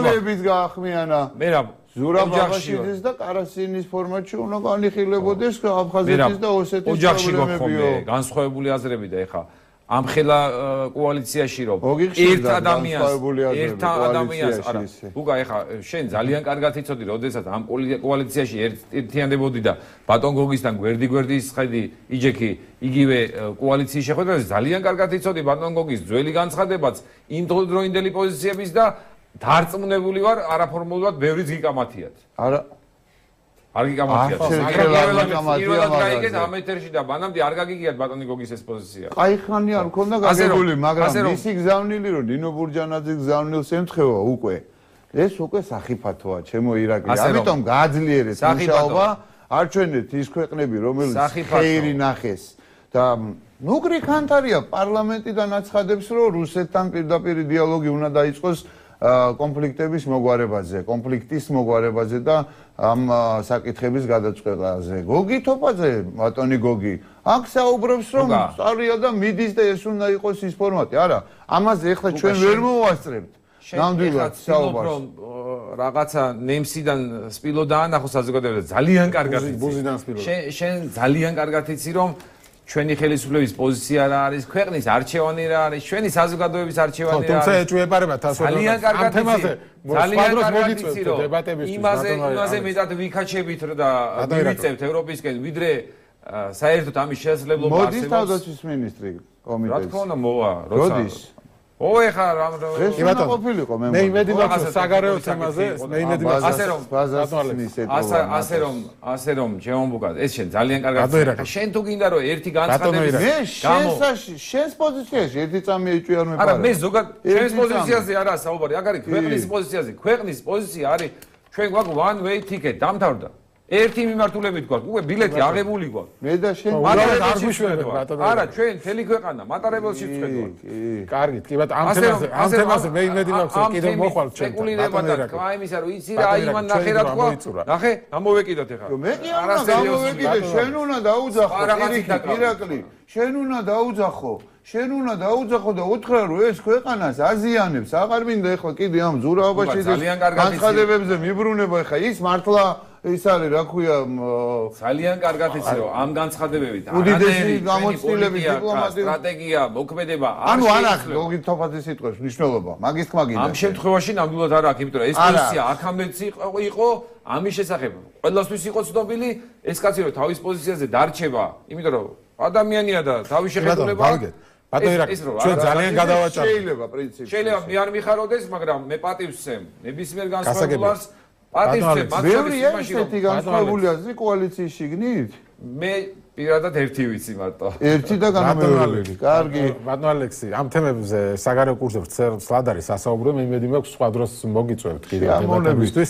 გაახმიანა მე რა ზურაბაღაშიძის და კარასინის ფორმატში უნდა განიხილებოდეს აფხაზეთის და ოსეთის ოჯახში გქონდა განსხვავებული აზრები და ეხლა ამ ხელა კოალიციაში რომ ერთ ადამიანს ერთ ადამიანს არა უგა ეხა შენ ძალიან კარგად იცოდი როდესაც ამ კოალიციაში ერთიანდებოდი და ბატონ გოგისთან გვერდი გვერდის ხედი იჯექი იგივე კოალიციის შეხვედრაზე ძალიან კარგად იცოდი ბატონ გოგის ძველი განცხადებაც იმ დროინდელი პოზიციების და დარწმუნებული ვარ არაფორმულურად ბევრიც გიკამათიათ არა არ გიკამათიათ პირველად გაიგეთ ამ ეთერში და ბანამდე არ გაგიგიათ ბატონი გოგის ეს პოზიცია აი ხანი არ მქონდა გაგებული მაგრამ მისი გზავნილი რომ ნინო ბურჯანაძე გზავნილს ემთხვევა უკვე ეს უკვე სახიფათოა ჩემო ირაკლი ამიტომ გააძლიერეთ მუშაობა არ ჩვენეთ ის ქვეყნები რომელიც ხეირი ნახეს და ნუგრი ხანთარია პარლამენტიდან აცხადებს რომ რუსეთთან პირდაპირ დიალოგი უნდა დაიწყოს კონფლიქტების მოგვარებაზე, კონფლიქტის მოგვარებაზე და ამ საკითხების გადაწყვეტაზე. გოგი თოფაძე, ბატონი გოგი, აქ საუბრობს რომ სწორია და მიდის და ეს უნდა იყოს ის ფორმატი. არა, ამაზე ახლა ჩვენ ვერ მოვასწრებთ. ნამდვილად საუბარს. რაღაცა ნემსიდან სპილო დაანახო საზოგადოებას ძალიან კარგად იცი. ბუზიდან სპილო. შენ შენ ძალიან კარგად იცი რომ ჩვენი ხელისუფლების პოზიცია რა არის, ქვეყნის არჩევანი რა არის, ჩვენი საზოგადოების არჩევანი რა არის. თუმცა ეჭვებარება თასო ძალიან კარგად თემაზე ძალიან კარგად იცი რომ დებატებისთვის იმაზე იმაზე მეტად ვიქაჩებით და ვიწევთ ევროპისკენ, ვიდრე საერთოდ ამის შესაძლებლობა არსებობს. მოდის თავდაცვის მინისტრი კომიტეტში. რა თქმა უნდა მოვა, როდის? ო ეხა რა ეს უნდა ყოფილიყო მე მე იმედი მაქვს საგარეო თემაზე მე იმედი მაქვს ასე რომ ასე ასე რომ ასე რომ ჩემომბუკა ეს შენ ძალიან კარგად შენ თუ გინდა რომ ერთი განცხადების მე შენსაში შენს პოზიციაში ერთი წამი ეჭვი არ მეყარა არა მე ზოგად შენს პოზიციაზე არა საუბარი აქ არის ქვეყნის პოზიციაზე ქვეყნის პოზიცია არის ჩვენ გვაქვს one way ticket დამთავრდა ერთი მიმართულებით გვაქვს უკვე ბილეთი აღებული გვაქვს მე და შენ არ გვიშვენებ ბატონო არა ჩვენ მთელი ქვეყანა მატარებელში ვწვდით კარგით კი ბატონო ამ თემაზე ამ თემაზე მე იმედი მაქვს კიდევ მოხვალ ჩემთან სპეკულირება და კაიმისა რომ იცი რა იმან ნახე რა თქვა ნახე ამოვეკიდოთ ეხლა მე კი არ გამოვეკიდე შენ უნდა დაუძახო ირაკლი შენ უნდა დაუძახო შენ უნდა დაუძახო და უთხრა რომ ეს ქვეყანას აზიანებს აღარ მინდა ეხლა კიდე ამ ზურაობაში განცხადებებზე მიბრუნება ეხლა ის მართლა ის არის რა ქვია ძალიან კარგად იცი რომ ამ განცხადებებით უდიდესი გამოცდილების დიპლომატია სტრატეგია მოქმედება ანუ არ აქვს გოგი თოფაძის სიტყვის მნიშვნელობა მაგის თქმა გინდა ამ შემთხვევაში ნამდვილად არ აქვს იმიტომ რომ ეს პოზიცია აქამდეც იყო ამის შესახებ ყველასთვის იყო ცნობილი ეს კაცი რომ თავის პოზიციაზე დარჩება იმიტომ რომ ადამიანია და თავის შეხედულება ბატონო ირაკლი ჩვენ ძალიან გადავაჭარბეთ შეიძლება პრინციპი შეიძლება მე არ მიხაროდეს მაგრამ მე პატივს ვცემ ნებისმიერ განსხვავებას პატივს ვცემ ბევრი ესეთი განსხვავებულია ზი კოალიციის შიგნით მე პირადად ერთი ვიცი მარტო ერთი და განმეორებელი კარგი ბატონო ალექსი ამ თემებზე საგარეო კურსზე ვცლად არის სასაუბრო მე იმედი მაქვს სხვა დროს მოგიწევთ კიდევ დებატებისთვის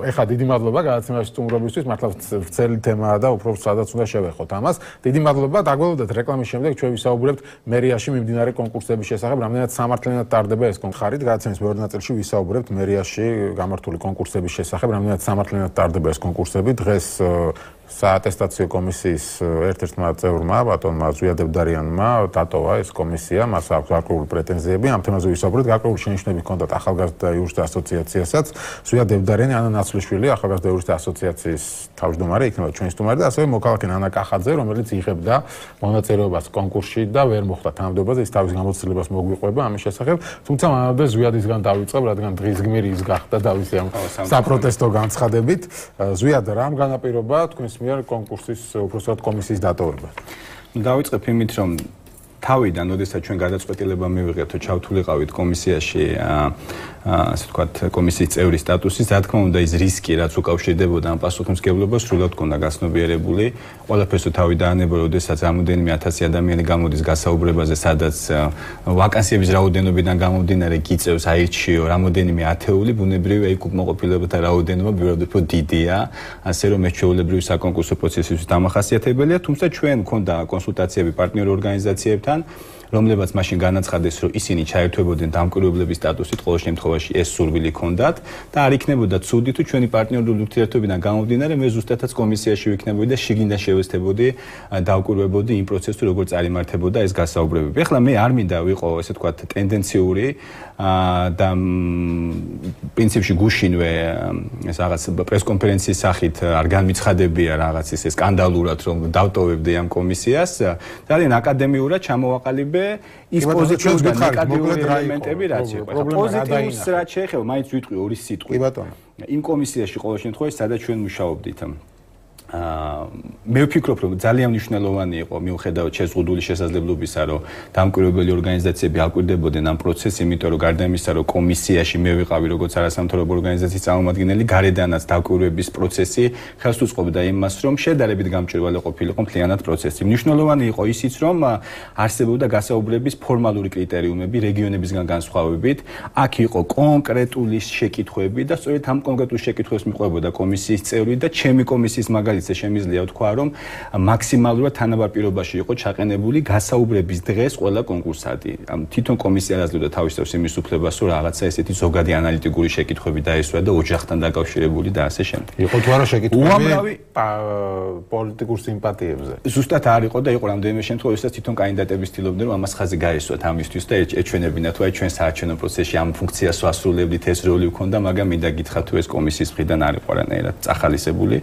ეხლა დიდი მადლობა გადაცემაში სტუმრობისთვის მართლა ვრცელი თემაა და უფრო სადაც უნდა შევეხოთ ამას დიდი მადლობა დაგველოდეთ რეკლამის შემდეგ ჩვენ ვისაუბრებთ მერიაში მიმდინარე კონკურსების შესახებ რამდენად სამართლიანად ტარდება ეს კონკურსი გადაცემის მეორე ნაწილში ვისაუბრებთ მერიაში გამართული კონკურსების შესახებ რამდენად სამართლიანად ტარდება ეს კონკურსები დღეს საატესტაციო კომისიის ერთ-ერთმა წევრმა ბატონმა ზვია დებდარიანმა დატოვა ეს კომისია მას აქვს გარკვეული პრეტენზიები ამ თემაზე ვისაუბრეთ გარკვეული შენიშვნები ჰქონდათ ახალგაზრდა იურისტთა ასოციაციასაც ზვია დებდარიანი ანა ნაცვლიშვილი ახალგაზრდა იურისტთა ასოციაციის თავმჯდომარე იქნება ჩვენი სტუმარი და ასევე მოქალაქე ნანა კახაძე რომელიც იღებდა მონაწილეობას კონკურსში და ვერ მოხვდა თანამდებობაზე ის თავის გამოცდილებას მოგვიყვება ამის შესახებ თუმცა მანამდე ზვიადისგან დავიწყებ რადგან დღის გმირი ის გახდა დავისი ამ საპროტესტო განცხადებით ზვიად რამ განაპირობა თქვენს მიერ კონკურსის უпроსტად კომისიის დატოვება. დავიწყებ იმით, რომ თავიდან, როდესაც ჩვენ გადაწყვეტილება მივიღეთ, რომ ჩავთვლიყავით კომისიაში, ასე ვთქვათ, კომისიის წევრის სტატუსის, რა თქმა უნდა, ის რისკი, რაც უკავშირდებოდა ამ პასუხისმგებლობას, სრულად ჰქონდა გაცნობიერებული. ყველაფერს თავი დაანება, როდესაც რამოდენიმე ათასი ადამიანი გამოდის გასაუბრებაზე, სადაც ვაკანსიების რაოდენობიდან გამომდინარე გიწევს აირჩიო რამოდენიმე ათეული, ბუნებრივია იქ უკმაყოფილებათა რაოდენობა ბევრად უფრო დიდია, ასე რომ მეჩვეულებრივი საკონკურსო პროცესისთვის დამახასიათებელია, თუმცა ჩვენ მქონდა კონსულტაციები პარტნიორ ორგანიზაციებთან, რომლებაც მაშინ განაცხადეს, რომ ისინი ჩაერთვებოდნენ დამკვირვებლების სტატუსით, ყოველ შემთხვევაში ეს სურვილი ჰქონდათ და არ იქნებოდა ცუდი თუ ჩვენი პარტნიორული ურთიერთობიდან გამომდინარე მე ზუსტადაც კომისიაში ვიქნებოდი და შიგნიდან შევეცდებოდი დავკვირვებოდი იმ პროცესს, თუ როგორ წარიმართებოდა ეს გასაუბრებები. ეხლა მე არ მინდა ვიყო, ესე ვთქვათ, ტენდენციური და პრინციპში გუშინვე ეს რაღაც პრესკონფერენციის სახით არ განმიცხადებია რაღაც ისე სკანდალურად, რომ დავტოვებდი ამ კომისიას. ძალიან აკადემიურად ჩამოვაყალიბე ის პოზიტიური და ნეგატიური ელემენტები რაც იყო. პოზიტიურს რაც შეეხება, მაინც ვიტყვი ორი სიტყვი. კი ბატონო. იმ კომისიაში ყოველ შემთხვევაში სადაც ჩვენ მუშაობდით. მე ვფიქრობ, რომ ძალიან მნიშვნელოვანი იყო მიუხედავად შეზღუდული შესაძლებლობისა, რომ დამკვირვებელი ორგანიზაციები აკვირდებოდნენ ამ პროცესს, იმიტომ რომ გარდა იმისა, რომ კომისიაში მე ვიყავი როგორც არასამთავრობო ორგანიზაციის წარმომადგენელი, გარედანაც დაკვირვების პროცესი ხელს უწყობდა იმას, რომ შედარებით გამჭვირვალე ყოფილიყო მთლიანად პროცესი. მნიშვნელოვანი იყო ისიც, რომ არსებობდა გასაუბრების ფორმალური კრიტერიუმები რეგიონებისგან განსხვავებით, აქ იყო კონკრეტული შეკითხვები და სწორედ ამ კონკრეტულ შეკითხვებს მიყვებოდა კომისიის წევრი და ჩემი კომისიის მაგალითად შემიძლია ვთქვა, რომ მაქსიმალურად თანაბარ პირობაში იყო ჩაყენებული გასაუბრების დღეს ყველა კონკურსანტი. თვითონ კომისია აძლევდა თავის თავს იმის უფლებას, რომ რაღაცა ესეთი ზოგადი ანალიტიკური შეკითხვები დაესვა და ოჯახთან დაკავშირებული და ასე შემდეგ. იყო თუ არა შეკითხვები პოლიტიკურ სიმპათიებზე? ზუსტად არ იყო და იყო რამდენიმე შემთხვევაში, სადაც თვითონ კანდიდატები ცდილობდნენ, რომ ამას ხაზი გაესვათ ამისთვის და ეჩვენებინათ, თუ აი ჩვენ საარჩევნო პროცესში ამ ფუნქციას ვასრულებდით, ეს როლი ვქონდა, მაგრამ მინდა გითხრათ, თუ ეს კომისიის მხრიდან არ იყო არანაირად წახალისებული.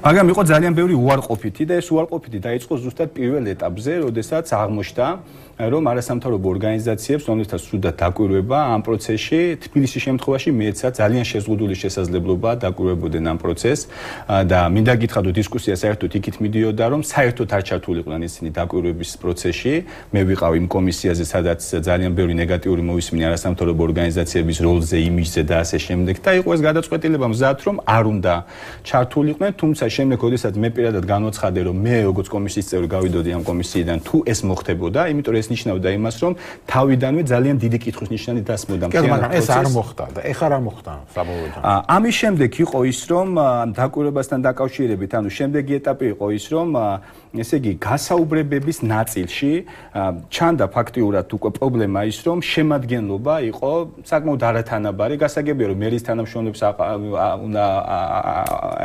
მაგრამ იყო ძალიან ბევრი უარყოფითი და ეს უარყოფითი დაიწყო ზუსტად პირველ ეტაპზე, როდესაც აღმოჩნდა, რომ არასამთავრობო ორგანიზაციებს, რომლებსაც სრულად დაკვირვება ამ პროცესში, თბილისის შემთხვევაში მიეცა ძალიან შეზღუდული შესაძლებლობა დაკვირვებოდნენ ამ პროცესს და მინდა გითხრათ, რომ დისკუსია საერთოდ იქით მიდიოდა, რომ საერთოდ არ ჩართულიყვნენ ისინი დაკვირვების პროცესში. მე ვიყავ იმ კომისიაზე, სადაც ძალიან ბევრი ნეგატიური მოვისმინე არასამთავრობო ორგანიზაციების როლზე, იმიჯზე და ასე შემდეგ და იყო ეს გადაწყვეტილება მზად, რომ არ უნდა ჩართულიყვნენ, თუმცა შემდეგ, როდესაც მე პირადად განვაცხადე, რომ მე როგორც კომისიის წევრი გავიდოდი ამ კომისიიდან, თუ ეს მოხდებოდა, იმიტომ ეს ნიშნავდა იმას, რომ თავიდანვე ძალიან დიდი კითხვის ნიშანი დასმოდა მთლიანად. კი, მაგრამ ეს არ მოხდა და ეხლა რა მოხდა საბოლოოდ? ამის შემდეგ იყო ის, რომ დაკვირვებასთან დაკავშირებით, ანუ შემდეგი ეტაპი იყო ის, რომ ესე იგი გასაუბრებების ნაწილში ჩანდა ფაქტიურად უკვე პრობლემა ის, რომ შემადგენლობა იყო საკმაოდ არათანაბარი, გასაგებია, რომ მერის თანამშრომლებს უნდა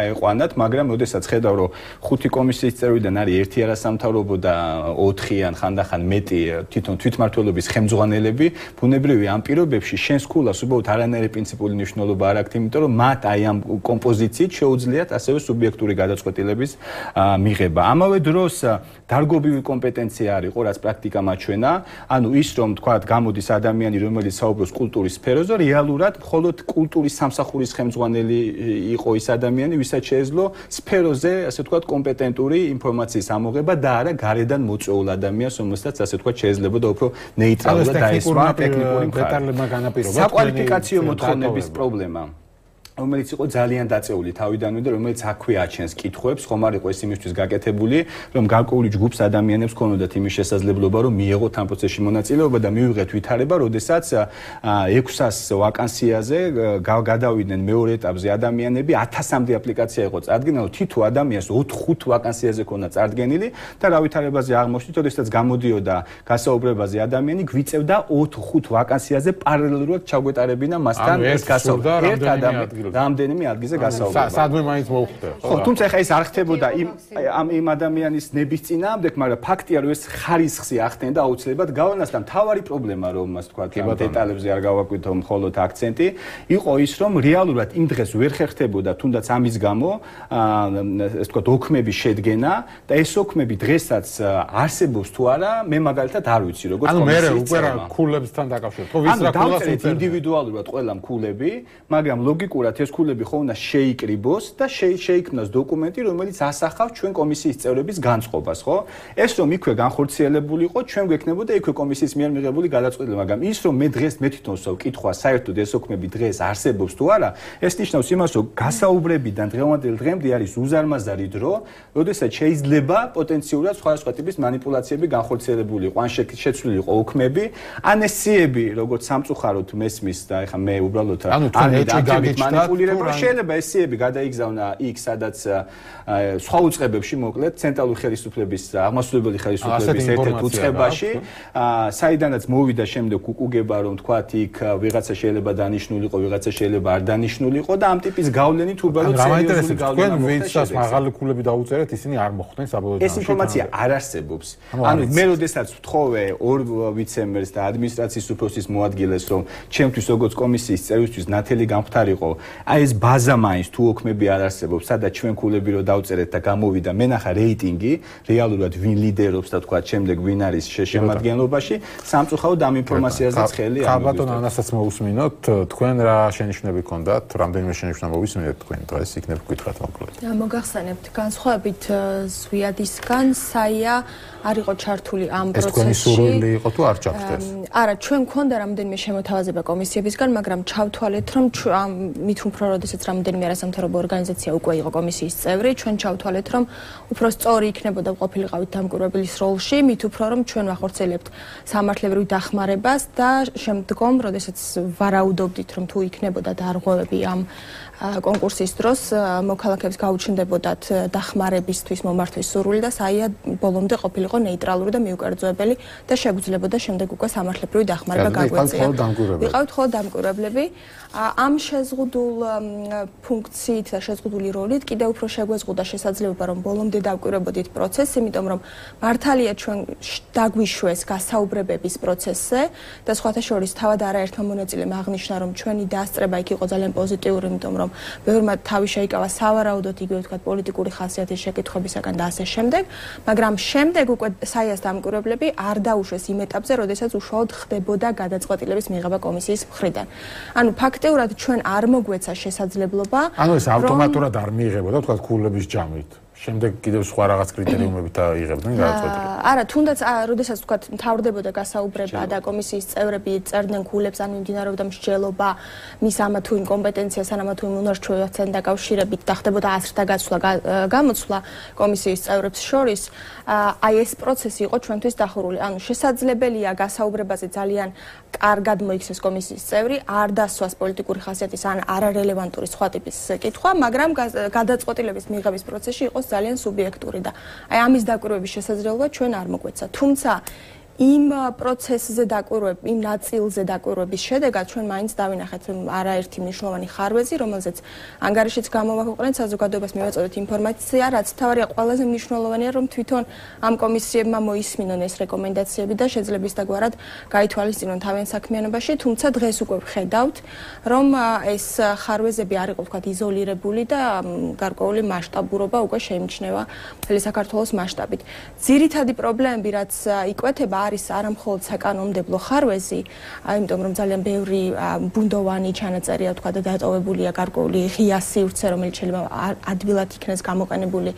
აეყვანათ, მაგრამ როდესაც ხედავ, რომ ხუთი კომისიის წევრიდან არის ერთი არასამთავრობო და ოთხი ან ხანდახან მეტი თვითონ თვითმმართველობის ხელმძღვანელები, ბუნებრივია ამ პირობებში შენს ქულას უბრალოდ არანაირი პრინციპული მნიშვნელობა არ აქვს, იმიტომ რომ მათ აი ამ კომპოზიციით შეუძლიათ ასევე სუბიექტური გადაწყვეტილების მიღება. ამავე დროს დარგობრივი კომპეტენცია არ იყო, რაც პრაქტიკა მაჩვენა, ანუ ის რომ თქვათ გამოდის ადამიანი, რომელიც საუბრობს კულტურის სფეროზე, რეალურად მხოლოდ კულტურის სამსახურის ხელმძღვანელი იყო ის ადამიანი, ვისაც შეეძლო სფეროზე, ასე ვთქვათ, კომპეტენტური ინფორმაციის ამოღება და არა გარედან მოწვეულ ადამიანს, რომელსაც ასე ვთქვათ, შეიძლებოდა უფრო ნეიტრალურად დაესვა ტექნიკური მხარე. საკვალიფიკაციო მოთხოვნების პრობლემა. რომელიც იყო ძალიან დაწეული თავიდანვე და რომელიც აქვე აჩენს კითხვებს, ხომ არ იყო ეს იმისთვის გაკეთებული, რომ გარკვეული ჯგუფს ადამიანებს ქონოდათ იმის შესაძლებლობა, რომ მიეღოთ ამ პროცესში მონაწილეობა და მივიღეთ ვითარება, როდესაც ექვსას ვაკანსიაზე გადავიდნენ მეორე ეტაპზე ადამიანები, ათასამდე აპლიკაცია იყო წარდგენილი, თითო ადამიანს ოთხ-ხუთ ვაკანსიაზე ქონდა წარდგენილი და რა ვითარებაზე აღმოჩნდით, როდესაც გამოდიოდა გასაუბრებაზე ადამიანი, გვიწევდა ოთხ-ხუთ ვაკანსიაზე პარალელურად ჩაგვეტარებინა მასთან ეს გასაუბრება. ერთ ადამიანს რამდენიმე ადგილზე გასაუბრება. სადმე მაინც მოუხდა. ხო, თუმცა ეხა ეს არ ხდებოდა იმ ამ იმ ადამიანის ნების წინააღმდეგ, მაგრამ ფაქტია, რომ ეს ხარისხი ახდენდა აუცილებლად გავლენას და მთავარი პრობლემა, რომ მას თქვა, ამ დეტალებზე არ გავაკვირდო მხოლოდ აქცენტი, იყო ის, რომ რეალურად იმ დღეს ვერ ხერხდებოდა თუნდაც ამის გამო, ეს თქვა, ოქმების შედგენა და ეს ოქმები დღესაც არსებობს თუ არა, მე მაგალითად არ ვიცი, როგორც კომისიის. ანუ მე უკვე რა ქულებსთან დაკავშირებით. ხო, ვის რა ქულას უწევდა? ინდივიდუალურად ყველა ქულები, მაგრამ ლოგიკურად ეს ქულები ხო უნდა შეიკრიბოს და შეიქმნას დოკუმენტი, რომელიც ასახავს ჩვენ კომისიის წევრების განწყობას, ხო? ეს რომ იქვე განხორციელებულიყო, ჩვენ გვექნებოდა იქვე კომისიის მიერ მიღებული გადაწყვეტილება, მაგრამ ის რომ მე დღეს მე თვითონ ვსვავ კითხვა, საერთოდ ეს ოქმები დღეს არსებობს თუ არა, ეს ნიშნავს იმას, რომ გასაუბრებიდან დღევანდელ დღემდე არის უზარმაზარი დრო, როდესაც შეიძლება პოტენციურად სხვადასხვა ტიპის манипуляციები განხორციელებულიყო, ან შეცვლილიყო ოქმები, ან ეს სიები, როგორც სამწუხაროდ მესმის და ეხა მე უბრალოდ არ манипуლირებ, რომ შეიძლება ეს სიები გადაიგზავნა იქ, სადაც სხვა უწყებებში, მოკლედ, ცენტრალური ხელისუფლების, აღმასრულებელი ხელისუფლების ერთ-ერთ უწყებაში, საიდანაც მოვიდა შემდეგ უკუგება, რომ თქვათ იქ ვიღაცა შეიძლება დანიშნულიყო, ვიღაცა შეიძლება არ დანიშნულიყო და ამ ტიპის გავლენით უბრალოდ სერიოზული გავლენა მოხდა. ვინცაც მაღალი ქულები დაუწერეთ, ისინი არ მოხვდნენ საბოლოო ეს ინფორმაცია არ არსებობს. ანუ მე როდესაც ვთხოვე ორ ვიცემერს და ადმინისტრაციის უფროსის მოადგილეს, რომ ჩემთვის როგორც კომისიის წევრისთვის ნათელი გამხდარიყო, აი ეს ბაზა მაინც თუ ოქმები არ არსებობს, სადაც ჩვენ ქულები რო დავწერეთ და გამოვიდა მენახა რეიტინგი, რეალურად ვინ ლიდერობს და თქვა შემდეგ ვინ არის შემადგენლობაში, სამწუხაროდ ამ ინფორმაციაზეც ხელი არ მოგწევს. ბატონ ანასაც მოусმინოთ, თქვენ რა შენიშვნები გქონდათ, რამდენიმე შენიშვნა მოვისმინეთ თქვენ დღეს იქნებ გითხრათ მოკლედ. მოგახსენებთ, განსხვავებით ზვიადისგან, საია არ იყო ჩართული ამ პროცესში. ეს თქვენი სურვილი იყო თუ არ ჩახდეს? არა, ჩვენ გქონდა რამდენიმე შემოთავაზება კომისიებისგან, მაგრამ ჩავთვალეთ, რომ მით უფრო როდესაც რამდენიმე არასამთავრობო ორგანიზაცია უკვე იყო კომისიის წევრი, ჩვენ ჩავთვალეთ, რომ უფრო სწორი იქნებოდა ყოფილიყავით დამკვირვებლის როლში, მით უფრო რომ ჩვენ ვახორციელებთ სამართლებრივ დახმარებას და შემდგომ, როდესაც ვარაუდობდით, რომ თუ იქნებოდა დარღვევები ამ კონკურსის დროს მოქალაქეებს გაუჩნდებოდათ დახმარებისთვის მომართვის სურვილი და საია ბოლომდე ყოფილიყო ნეიტრალური და მიუკერძოებელი და შეგვიძლებოდა შემდეგ უკვე სამართლებრივი დახმარება გაგვეწია. ვიყავით ხოლმე დამკვირვებლები. ამ შეზღუდულ ფუნქციით და შეზღუდული როლით კიდევ უფრო შეგვეზღუდა შესაძლებლობა, რომ ბოლომდე დავკვირვებოდით პროცესს, იმიტომ რომ მართალია ჩვენ დაგვიშვეს გასაუბრებების პროცესზე და სხვათა შორის თავად არაერთმა მონაწილემ აღნიშნა, რომ ჩვენი დასწრება იქ იყო ძალიან პოზიტიური, იმიტომ რომ ბევრმა თავი შეიკავა სავარაუდოდ იგივე ვთქვათ პოლიტიკური ხასიათის შეკითხვებისაგან და ასე შემდეგ, მაგრამ შემდეგ უკვე საიას დამკვირვებლები არ დაუშვეს იმ ეტაპზე, როდესაც უშუალოდ ხდებოდა გადაწყვეტილების მიღება კომისიის მხრიდან. ანუ ფაქტიურად ჩვენ არ მოგვეცა შესაძლებლობა, ანუ ეს ავტომატურად არ მიიღებოდა, ვთქვათ, ქულების ჯამით. შემდეგ კიდევ სხვა რაღაც კრიტერიუმებით აიღებდნენ გადაწყვეტილებას. არა, თუნდაც როდესაც ვთქვათ, მთავრდებოდა გასაუბრება და კომისიის წევრები წერდნენ ქულებს, ან მიმდინარეობდა მსჯელობა მის ამა თუ იმ კომპეტენციას, ან ამა თუ იმ უნარჩვევასთან დაკავშირებით და ხდებოდა აზრთა გაცვლა, გამოცვლა კომისიის წევრებს შორის, აი ეს პროცესი იყო ჩვენთვის დახურული. ანუ შესაძლებელია გასაუბრებაზე ძალიან კარგად მოიქცეს კომისიის წევრი, არ დასვას პოლიტიკური ხასიათის ან არარელევანტური სხვა ტიპის კითხვა, მაგრამ გადაწყვეტილების მიღების პროცესში იყო ძალიან სუბიექტური და აი ამის დაკვირვების შესაძლებლობა ჩვენ არ მოგვეცა. თუმცა იმ პროცესზე დაკვირვების, იმ ნაწილზე დაკვირვების შედეგად ჩვენ მაინც დავინახეთ არაერთი მნიშვნელოვანი ხარვეზი, რომელზეც ანგარიშიც გამოვაქვეყნეთ, საზოგადოებას მივაწოდეთ ინფორმაცია, რაც თავარია ყველაზე მნიშვნელოვანია, რომ თვითონ ამ კომისიებმა მოისმინონ ეს რეკომენდაციები და შეძლებს ისდაგვარად გაითვალისწინონ თავიანთ საქმიანობაში, თუმცა დღეს უკვე ვხედავთ, რომ ეს ხარვეზები არ იყო ვთქვათ იზოლირებული და გარკვეული მასშტაბურობა უკვე შეიმჩნევა მთელი საქართველოს მასშტაბით. ძირითადი პრობლემები, რაც იკვეთება არის არამხოლოდ საკანონმდებლო ხარვეზი, იმიტომ რომ ძალიან ბევრი ბუნდოვანი ჩანაწერია თქვა და დატოვებულია გარკვეული ღია სივრცე, რომელიც შეიძლება ადვილად იქნეს გამოყენებული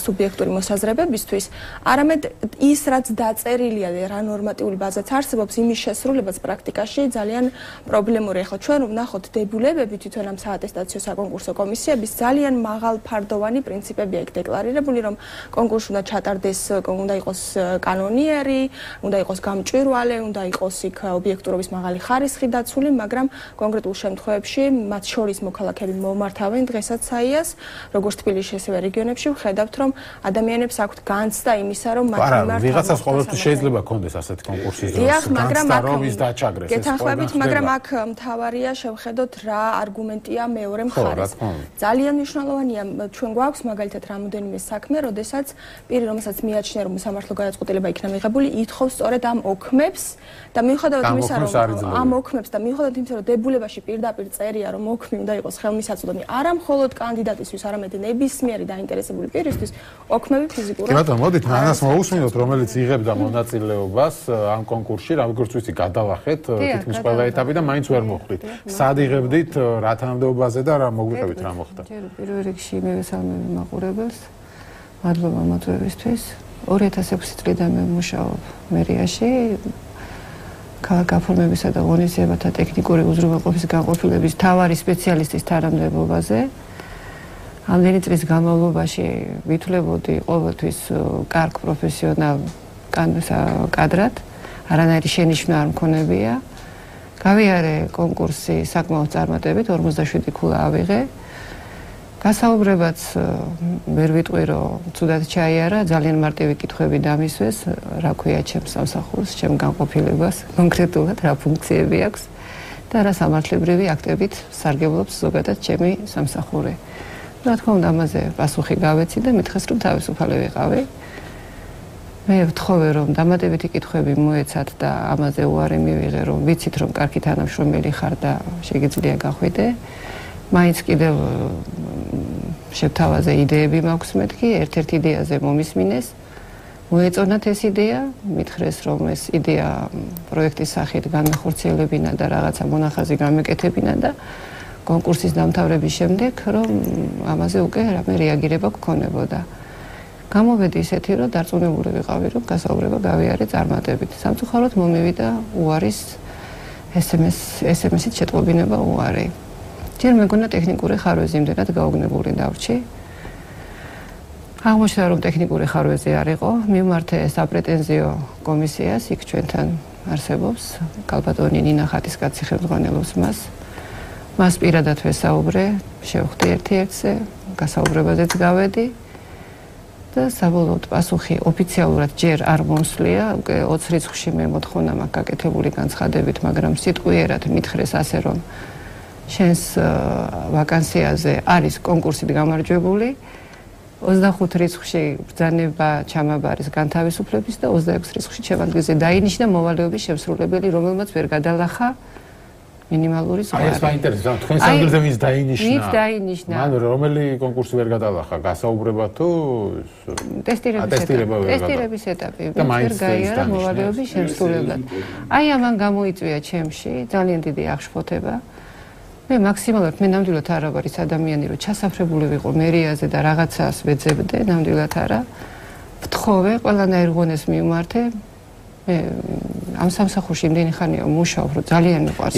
სუბიექტური მოსაზრებებისთვის, არამედ ის, რაც დაწერილია და რა ნორმატიული ბაზაც არსებობს, იმის შესრულებაც პრაქტიკაში ძალიან პრობლემური. ახლა ჩვენ ვნახოთ დებულებები თვითონ ამ საატესტაციო საკონკურსო კომისიების ძალიან მაღალფარდოვანი პრინციპებია იქ დეკლარირებული, რომ კონკურსი უნდა ჩატარდეს, უნდა იყოს კანონიერი, უნდა იყოს გამჭვირვალე, უნდა იყოს იქ ობიექტურობის მაღალი ხარისხი დაცული, მაგრამ კონკრეტულ შემთხვევებში მათ შორის მოქალაქეები მომართავენ დღესაც საიას, როგორც თბილისში, ასევე რეგიონებში ვხედავთ, რომ ადამიანებს აქვთ განცდა იმისა, რომ მათ მიმართ ვიღაცას ყოველთვის შეიძლება კონდეს ასეთი კონკურსის დროს, განცდა რომ ის დაჩაგრეს. გეთანხმებით, მაგრამ აქ მთავარია შევხედოთ რა არგუმენტია მეორე მხარეს. ძალიან მნიშვნელოვანია, ჩვენ გვაქვს მაგალითად რამოდენიმე საქმე, როდესაც პირი, რომელსაც მიაჩნია, რომ სამართლო გადაწყვეტილება იქნა მიღებული, უთხოვს სწორედ ამ ოქმებს და მიუხედავად ამ იმისა, ოქმებს არ რომ იძლევა. ამ ოქმებს და მიუხედავად იმისა, რომ დებულებაში პირდაპირ წერია, რომ ოქმი უნდა იყოს ხელმისაწვდომი არა მხოლოდ კანდიდატისთვის, არამედ ნებისმიერი დაინტერესებული პირისთვის, ოქმები ფიზიკურად. კი ბატონო, მოდით ანას მოусმინოთ, რომელიც იღებდა მონაწილეობას ამ კონკურსში, როგორც ვიცი, გადავახეთ თითქმის ყველა ეტაპი და მაინც ვერ მოხვდით. სად იღებდით, რა თანამდებობაზე და რა მოგვიყევით, რა მოხდა? ჯერ პირველ რიგში მევესალმები მაყურებელს. მადლობა მოწვევისთვის. ორი ათას ექვსი წლიდან მე ვმუშაობ მერიაში. ქალაქ გაფორმებისა და ღონისძიებათა ტექნიკური უზრუნველყოფის განყოფილების მთავარი სპეციალისტის თანამდებობაზე. ამდენი წლის განმავლობაში ვითვლებოდი ყოველთვის კარგ პროფესიონალ კადრად, არანაირი შენიშვნა არ მქონებია. გავიარე კონკურსი საკმაოდ წარმატებით, ორმოცდაშვიდი ქულა ავიღე. გასაუბრებაც ვერ ვიტყვი, რომ ცუდად ჩაიარა, ძალიან მარტივი კითხვები დამისვეს, რა ქვია ჩემს სამსახურს, ჩემ განყოფილებას, კონკრეტულად რა ფუნქციები აქვს და რა სამართლებრივი აქტებით სარგებლობს ზოგადად ჩემი სამსახური. რა თქმა უნდა, ამაზე პასუხი გავეცი და მითხეს, რომ თავისუფალი ვიყავი. მე ვთხოვე, რომ დამატებითი კითხვები მოეცათ და ამაზე უარი მივიღე, რომ ვიცით, რომ კარგი თანამშრომელი ხარ და შეგიძლია გახვიდე. მაინც კიდევ შევთავაზე იდეები მაქვს მეთქი, ერთ-ერთ იდეაზე მომისმინეს. მოეწონათ ეს იდეა, მითხრეს, რომ ეს იდეა პროექტის სახით განმეხორციელებინა და რაღაცა მონახაზი გამეკეთებინა და კონკურსის დამთავრების შემდეგ, რომ ამაზე უკვე რამე რეაგირება გქონებოდა. გამოვედი ისეთი, რომ დარწმუნებული ვიყავი, რომ გასაუბრება გავიარე წარმატებით. სამწუხაროდ მომივიდა უარის ეს ემ ეს-ით შეტყობინება უარი. ჯერ მეგონა ტექნიკური ხარვეზი იმდენად გაუგნებული დავრჩი. აღმოჩნდა, რომ ტექნიკური ხარვეზი არ იყო, მივმართე საპრეტენზიო კომისიას, იქ ჩვენთან არსებობს, კალბატონი ნინა ხატისკაცი ხელმძღვანელობს მას. მას პირადად ვესაუბრე, შევხვდი ერთ-ერთზე, გასაუბრებაზეც გავედი და საბოლოოდ პასუხი ოფიციალურად ჯერ არ მომსვლია, უკვე ოცი რიცხვში მე მოთხოვნა მაქვს გაკეთებული განცხადებით, მაგრამ სიტყვიერად მითხრეს ასე, რომ შენს ვაკანსიაზე არის კონკურსით გამარჯვებული, ოცდახუთ რიცხვში ბრძანება ჩამაბარის განთავისუფლების და ოცდაექვსი რიცხვში ჩემ ადგილზე დაინიშნა მოვალეობის შემსრულებელი, რომელმაც ვერ გადალახა მინიმალური ზღვარი. აი ეს მაინტერესებს, თქვენს ადგილზე ვის დაინიშნა? ვის დაინიშნა? მან რომელი კონკურსი ვერ გადალახა? გასაუბრება თუ ტესტირების ეტაპი. ვერ გაიარა მოვალეობის შემსრულებლად. აი ამან გამოიწვია ჩემში ძალიან დიდი აღშფოთება. მე მაქსიმალურად მე ნამდვილად არა ვარ ის ადამიანი, რომ ჩასაფრებული ვიყო მერიაზე და რაღაცას ვეძებდე, ნამდვილად არა. ვთხოვე, ყველანაირ ღონეს მივმართე. მე ამ სამსახურში იმდენი ხანია მუშაობ, რომ ძალიან მიყვარს.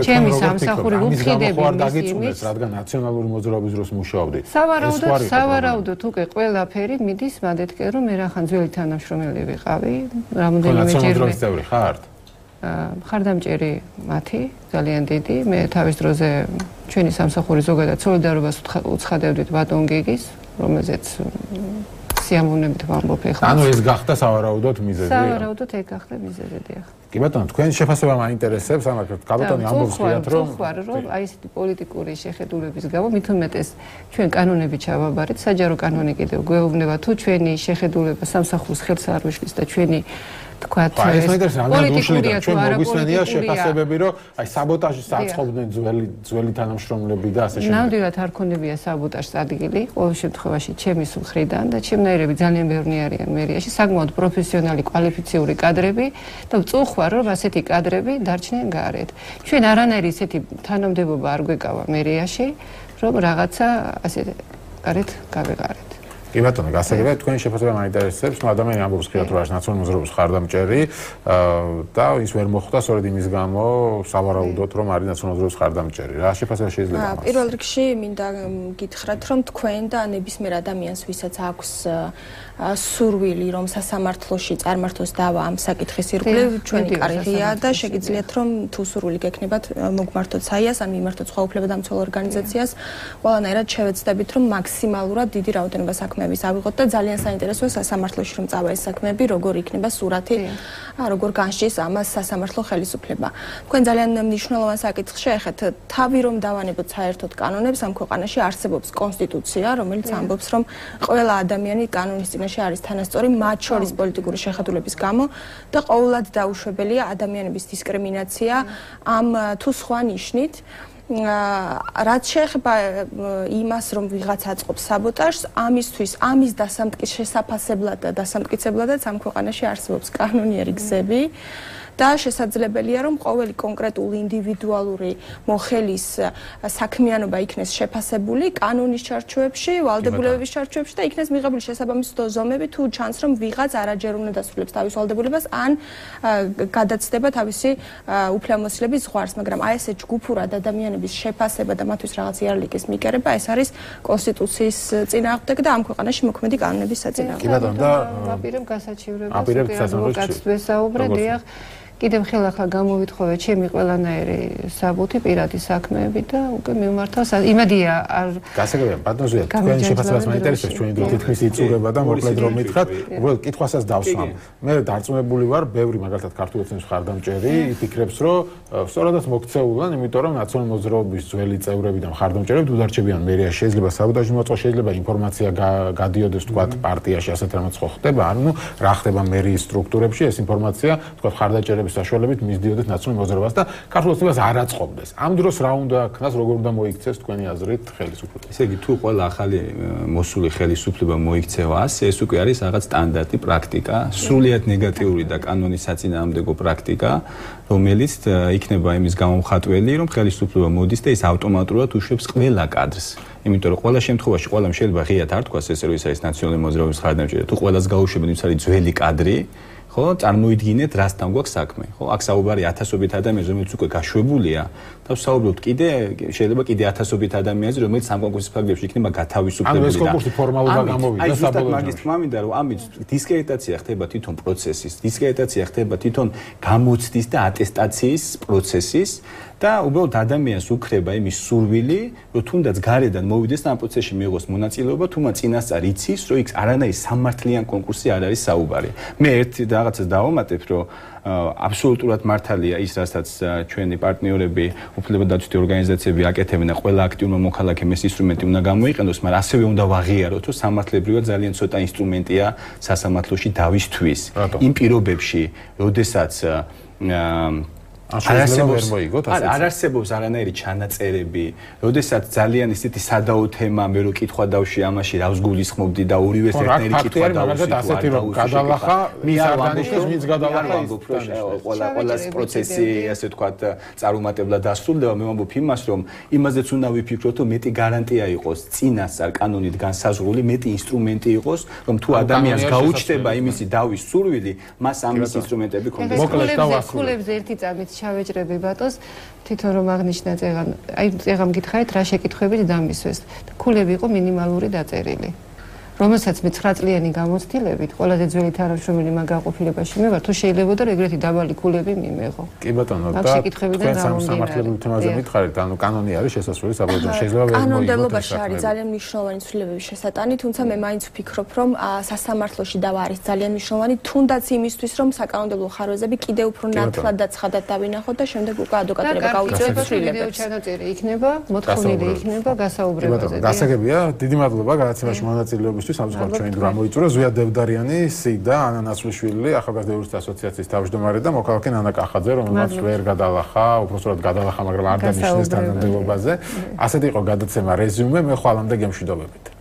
ჩემი სამსახური უფხიდები მისიმის, რადგან ნაციონალური მოძრაობის დროს მუშაობდით. სავარაუდოდ, სავარაუდოდ უკვე ყველაფერი მიდის მადეთკენ, რომ მე რახან ძველი თანამშრომელი ვიყავი, რამოდენიმეჯერმე წევრი ხართ? ხარდამჭერი მათი, ძალიან დიდი. მე თავის დროზე ჩვენი სამსახური ზოგადად სოლიდარობას უცხადევდით ბატონ გიგის, რომელზეც სიამოვნებით ვამბობ ეხლა. ანუ ეს გახდა სავარაუდოდ მიზეზი? სავარაუდოდ ეგ გახდა მიზეზი, დიახ. კი ბატონო, თქვენი შეფასება მაინტერესებს, ამათ კალბატონი ამბობს ხიათ, რომ ვთქვარ, რომ აი ესეთი პოლიტიკური შეხედულების გამო მით უმეტეს ჩვენ კანონები ჩავაბარეთ, საჯარო კანონი კიდევ გვეუბნება თუ ჩვენი შეხედულება სამსახურს ხელს არ უშლის და ჩვენი თქვათ პოლიტიკურია თუ არა მოგვისმენია შეფასებები, რომ აი საბოტაჟს აწყობდნენ ძველი ძველი თანამშრომლები და ასე შემდეგ. ნამდვილად არ ქონებია საბოტაჟს ადგილი, ყოველ შემთხვევაში ჩემის მხრიდან და ჩემნაირები ძალიან ბევრი არიან მერიაში, საკმაოდ პროფესიონალი, კვალიფიციური კადრები და ვწუხარ, რომ ასეთი კადრები დარჩნენ გარეთ. ჩვენ არანაირი ისეთი თანამდებობა არ გვეკავა მერიაში, რომ რაღაცა ასე გარეთ გავეყარეთ. კი ბატონო, გასაგებია, თქვენი შეფასება მაინტერესებს, მაგრამ ადამიანი ამბობს ხშირად რომ არის ნაციონალური მოძრაობის ხარდამჭერი და ის ვერ მოხვდა სწორედ იმის გამო, სავარაუდოდ რომ არის ნაციონალური მოძრაობის ხარდამჭერი. რა შეფასება შეიძლება მას? პირველ რიგში მინდა გითხრათ, რომ თქვენ და ნებისმიერ ადამიანს, ვისაც აქვს სურვილი, რომ სასამართლოში წარმართოს დავა ამ საკითხის ირგვლივ, ჩვენი კარგია და შეგიძლიათ რომ თუ სურვილი გექნებათ, მოგმართოთ საიას, ან მიმართოთ სხვა უფლებადამცველ ორგანიზაციას, ყველანაირად შევეცდებით, რომ მაქსიმალურად დიდი რაოდენობა საქმე საქმეების ავიღოთ და ძალიან საინტერესოა სასამართლოში რომ წავა ეს საქმეები, როგორ იქნება სურათი, როგორ განსჯის ამას სასამართლო ხელისუფლება. თქვენ ძალიან მნიშვნელოვან საკითხს შეეხეთ, თავი რომ დავანებოთ საერთოდ კანონებს ამ ქვეყანაში არსებობს კონსტიტუცია, რომელიც ამბობს რომ ყველა ადამიანი კანონის წინაშე არის თანასწორი, მათ შორის პოლიტიკური შეხედულების გამო და ყოველად დაუშვებელია ადამიანების დისკრიმინაცია ამ თუ სხვა ნიშნით. რაც შეეხება იმას, რომ ვიღაც აწყობს საბოტაჟს, ამისთვის, ამის დასამტკის შესაფასებლად და დასამტკიცებლადაც ამ ქვეყანაში არსებობს კანონიერი გზები. და შესაძლებელია რომ ყოველი კონკრეტული ინდივიდუალური მოხელის საქმიანობა იქნეს შეფასებული კანონის ჩარჩოებში, ვალდებულებების ჩარჩოებში და იქნეს მიღებული შესაბამისი ზომები თუ ჩანს რომ ვიღაც არაჯერ უნდა დასრულებს თავის ვალდებულებას ან გადაცდება თავისი უფლებამოსილების ზღვარს, მაგრამ აი ესე ჯგუფურად ადამიანების შეფასება და მათთვის რაღაც იარლიკის მიკერება ეს არის კონსტიტუციის წინააღმდეგ და ამ ქვეყანაში მოქმედი კანონების საწინააღმდეგო. და აპირებ გასაჩივრებას ვესაუბრე, დიახ. კიდევ ხელახლა გამოვითხოვე ჩემი ყველანაირი საბუთი პირადი საქმეები და უკვე მიმართავ იმედია არ გასაგებია ბატონო თქვენ შეფასებას მაინტერესებს ჩვენი დრო თითქმის იწურება და მოკლედ რომ მითხრათ უბრალოდ კითხვასაც დავსვამ მე დარწმუნებული ვარ ბევრი მაგალითად ქართულ ოცნების მხარდამჭერი იფიქრებს რომ სწორადაც მოქცეულან იმიტომ რომ ნაციონალური მოძრაობის ძველი წევრები და მხარდამჭერები უდარჩებიან მერიაში შეიძლება საბოტაჟი მოწყოს შეიძლება ინფორმაცია გადიოდეს თქვათ პარტიაში ასეთ რამაც ხო ხდება ანუ რა ხდება მერიის სტრუქტურებში ეს ინფორმაცია თქვათ მხარდამჭერები საშუალებით მისდიოდეთ ნაციონალურ მოძრაობას და ქართულ ოცნებას არ აწყობდეს. ამ დროს რა უნდა ქნას, როგორ უნდა მოიქცეს თქვენი აზრით ხელისუფლება? ესე იგი, თუ ყველა ახალი მოსული ხელისუფლება მოიქცევა ასე, ეს უკვე არის რაღაც სტანდარტი პრაქტიკა, სრულიად ნეგატიური და კანონის საწინააღმდეგო პრაქტიკა, რომელიც იქნება იმის გამომხატველი, რომ ხელისუფლება მოდის და ის ავტომატურად უშვებს ყველა კადრს. იმიტომ რომ ყველა შემთხვევაში ყველამ შეიძლება ღიად არ თქვას ესე რომ ის არის ნაციონალური მოძრაობის მხარდამჭერი, თუ ყველას გაუშვებენ ის არის ძველი კადრი ხო წარმოიდგინეთ რასთან გვაქვს საქმე ხო აქ საუბარი ათასობით ადამიანზე რომელიც უკვე გაშვებულია და ვსაუბრობთ კიდე შეიძლება კიდე ათასობით ადამიანზე რომელიც ამ კონკურსის ფარგლებში იქნება გათავისუფლებული და ანუ ეს კონკურსი ფორმალურად გამოვიდა საბოლოო მაგის თქმა მინდა რომ ამით დისკრედიტაცია ხდება თვითონ პროცესის დისკრედიტაცია ხდება თვითონ გამოცდის და ატესტაციის პროცესის და უბრალოდ ადამიანს უქრება იმის სურვილი რომ თუნდაც გარედან მოვიდეს და ამ პროცესში მიიღოს მონაწილეობა თუმცა წინასწარ იცის რომ იქ არანაირი სამართლიან კონკურსი არ არის საუბარი მე ერთი რაღაცას დავამატებ რომ აბსოლუტურად მართალია ის რასაც ჩვენი პარტნიორები უფლებადაცვითი ორგანიზაციები აკეთებენ და ყველა აქტიურმა მოქალაქემ ეს ინსტრუმენტი უნდა გამოიყენოს მაგრამ ასევე უნდა ვაღიაროთ რომ სამართლებრივად ძალიან ცოტა ინსტრუმენტია სასამართლოში დავისთვის იმ პირობებში როდესაც არ არსებობს არანაირი ჩანაწერები, როდესაც ძალიან ისეთი სადაო თემა მე რო კითხვა დავში ამაში რავს გულისხმობდი და ორივეს ერთნაირი კითხვა დავში ასეთი რომ გადალახა მის არდანიშნულს ვინც გადალახა ყველა ყველას პროცესი ასე ვთქვათ წარუმატებლად დასრულდება მე ვამბობ იმას რომ იმაზეც უნდა ვიფიქროთ რომ მეტი გარანტია იყოს წინასწარ კანონით განსაზღვრული მეტი ინსტრუმენტი იყოს რომ თუ ადამიანს გაუჩნდება იმისი დავის სურვილი მას ამის ინსტრუმენტები ქონდეს მოკლედ დავასრულებ ერთი წამით ჩავეჭრები ბატონს თვითონ რომ აღნიშნა წეგან აი წეგამ გითხარით რა შეკითხვებით დამისვეს ქულები იყო მინიმალური დაწერილი რომელსაც მე ცხრა წლიანი გამოცდილებით ყველაზე ძველი თანამშრომელი მაგაყოფილებაში მე ვარ თუ შეიძლება და ეგრეთი დაბალი ქულები მიმეღო კი ბატონო და თქვენ სამართლებრივ თემაზე მითხარით ანუ კანონი არის შესასვლელი საბოლოო შეიძლება ვერ მოიგოთ კანონმდებლობაში არის ძალიან მნიშვნელოვანი ცვლილებების შესატანი თუმცა მე მაინც ვფიქრობ რომ სასამართლოში დავა არის ძალიან მნიშვნელოვანი თუნდაც იმისთვის რომ საკანონმდებლო ხარვეზები კიდევ უფრო ნათლად და ცხადად დავინახოთ და შემდეგ უკვე ადვოკატირება გაუწევთ ცვლილებებს ვიდეო ჩანაწერი იქნება მოთხოვნილი იქნება გასაუბრებაზე გასაგებია დიდი მადლობა გადაცემაში მონაწილეობის სამწუხაროდ ჩვენი დრო მოიწურა ზვია დევდარიანი სიდა ანა ნაცვლიშვილი ახალგაზრდა იურისტთა ასოციაციის თავმჯდომარე და მოქალაქე ნანა კახაძე რომელმაც ვერ გადალახა უბრალოდ გადალახა მაგრამ არ დანიშნეს თანამდებობაზე ასეთი იყო გადაცემა რეზიუმე მე ხვალამდე გემშვიდობებით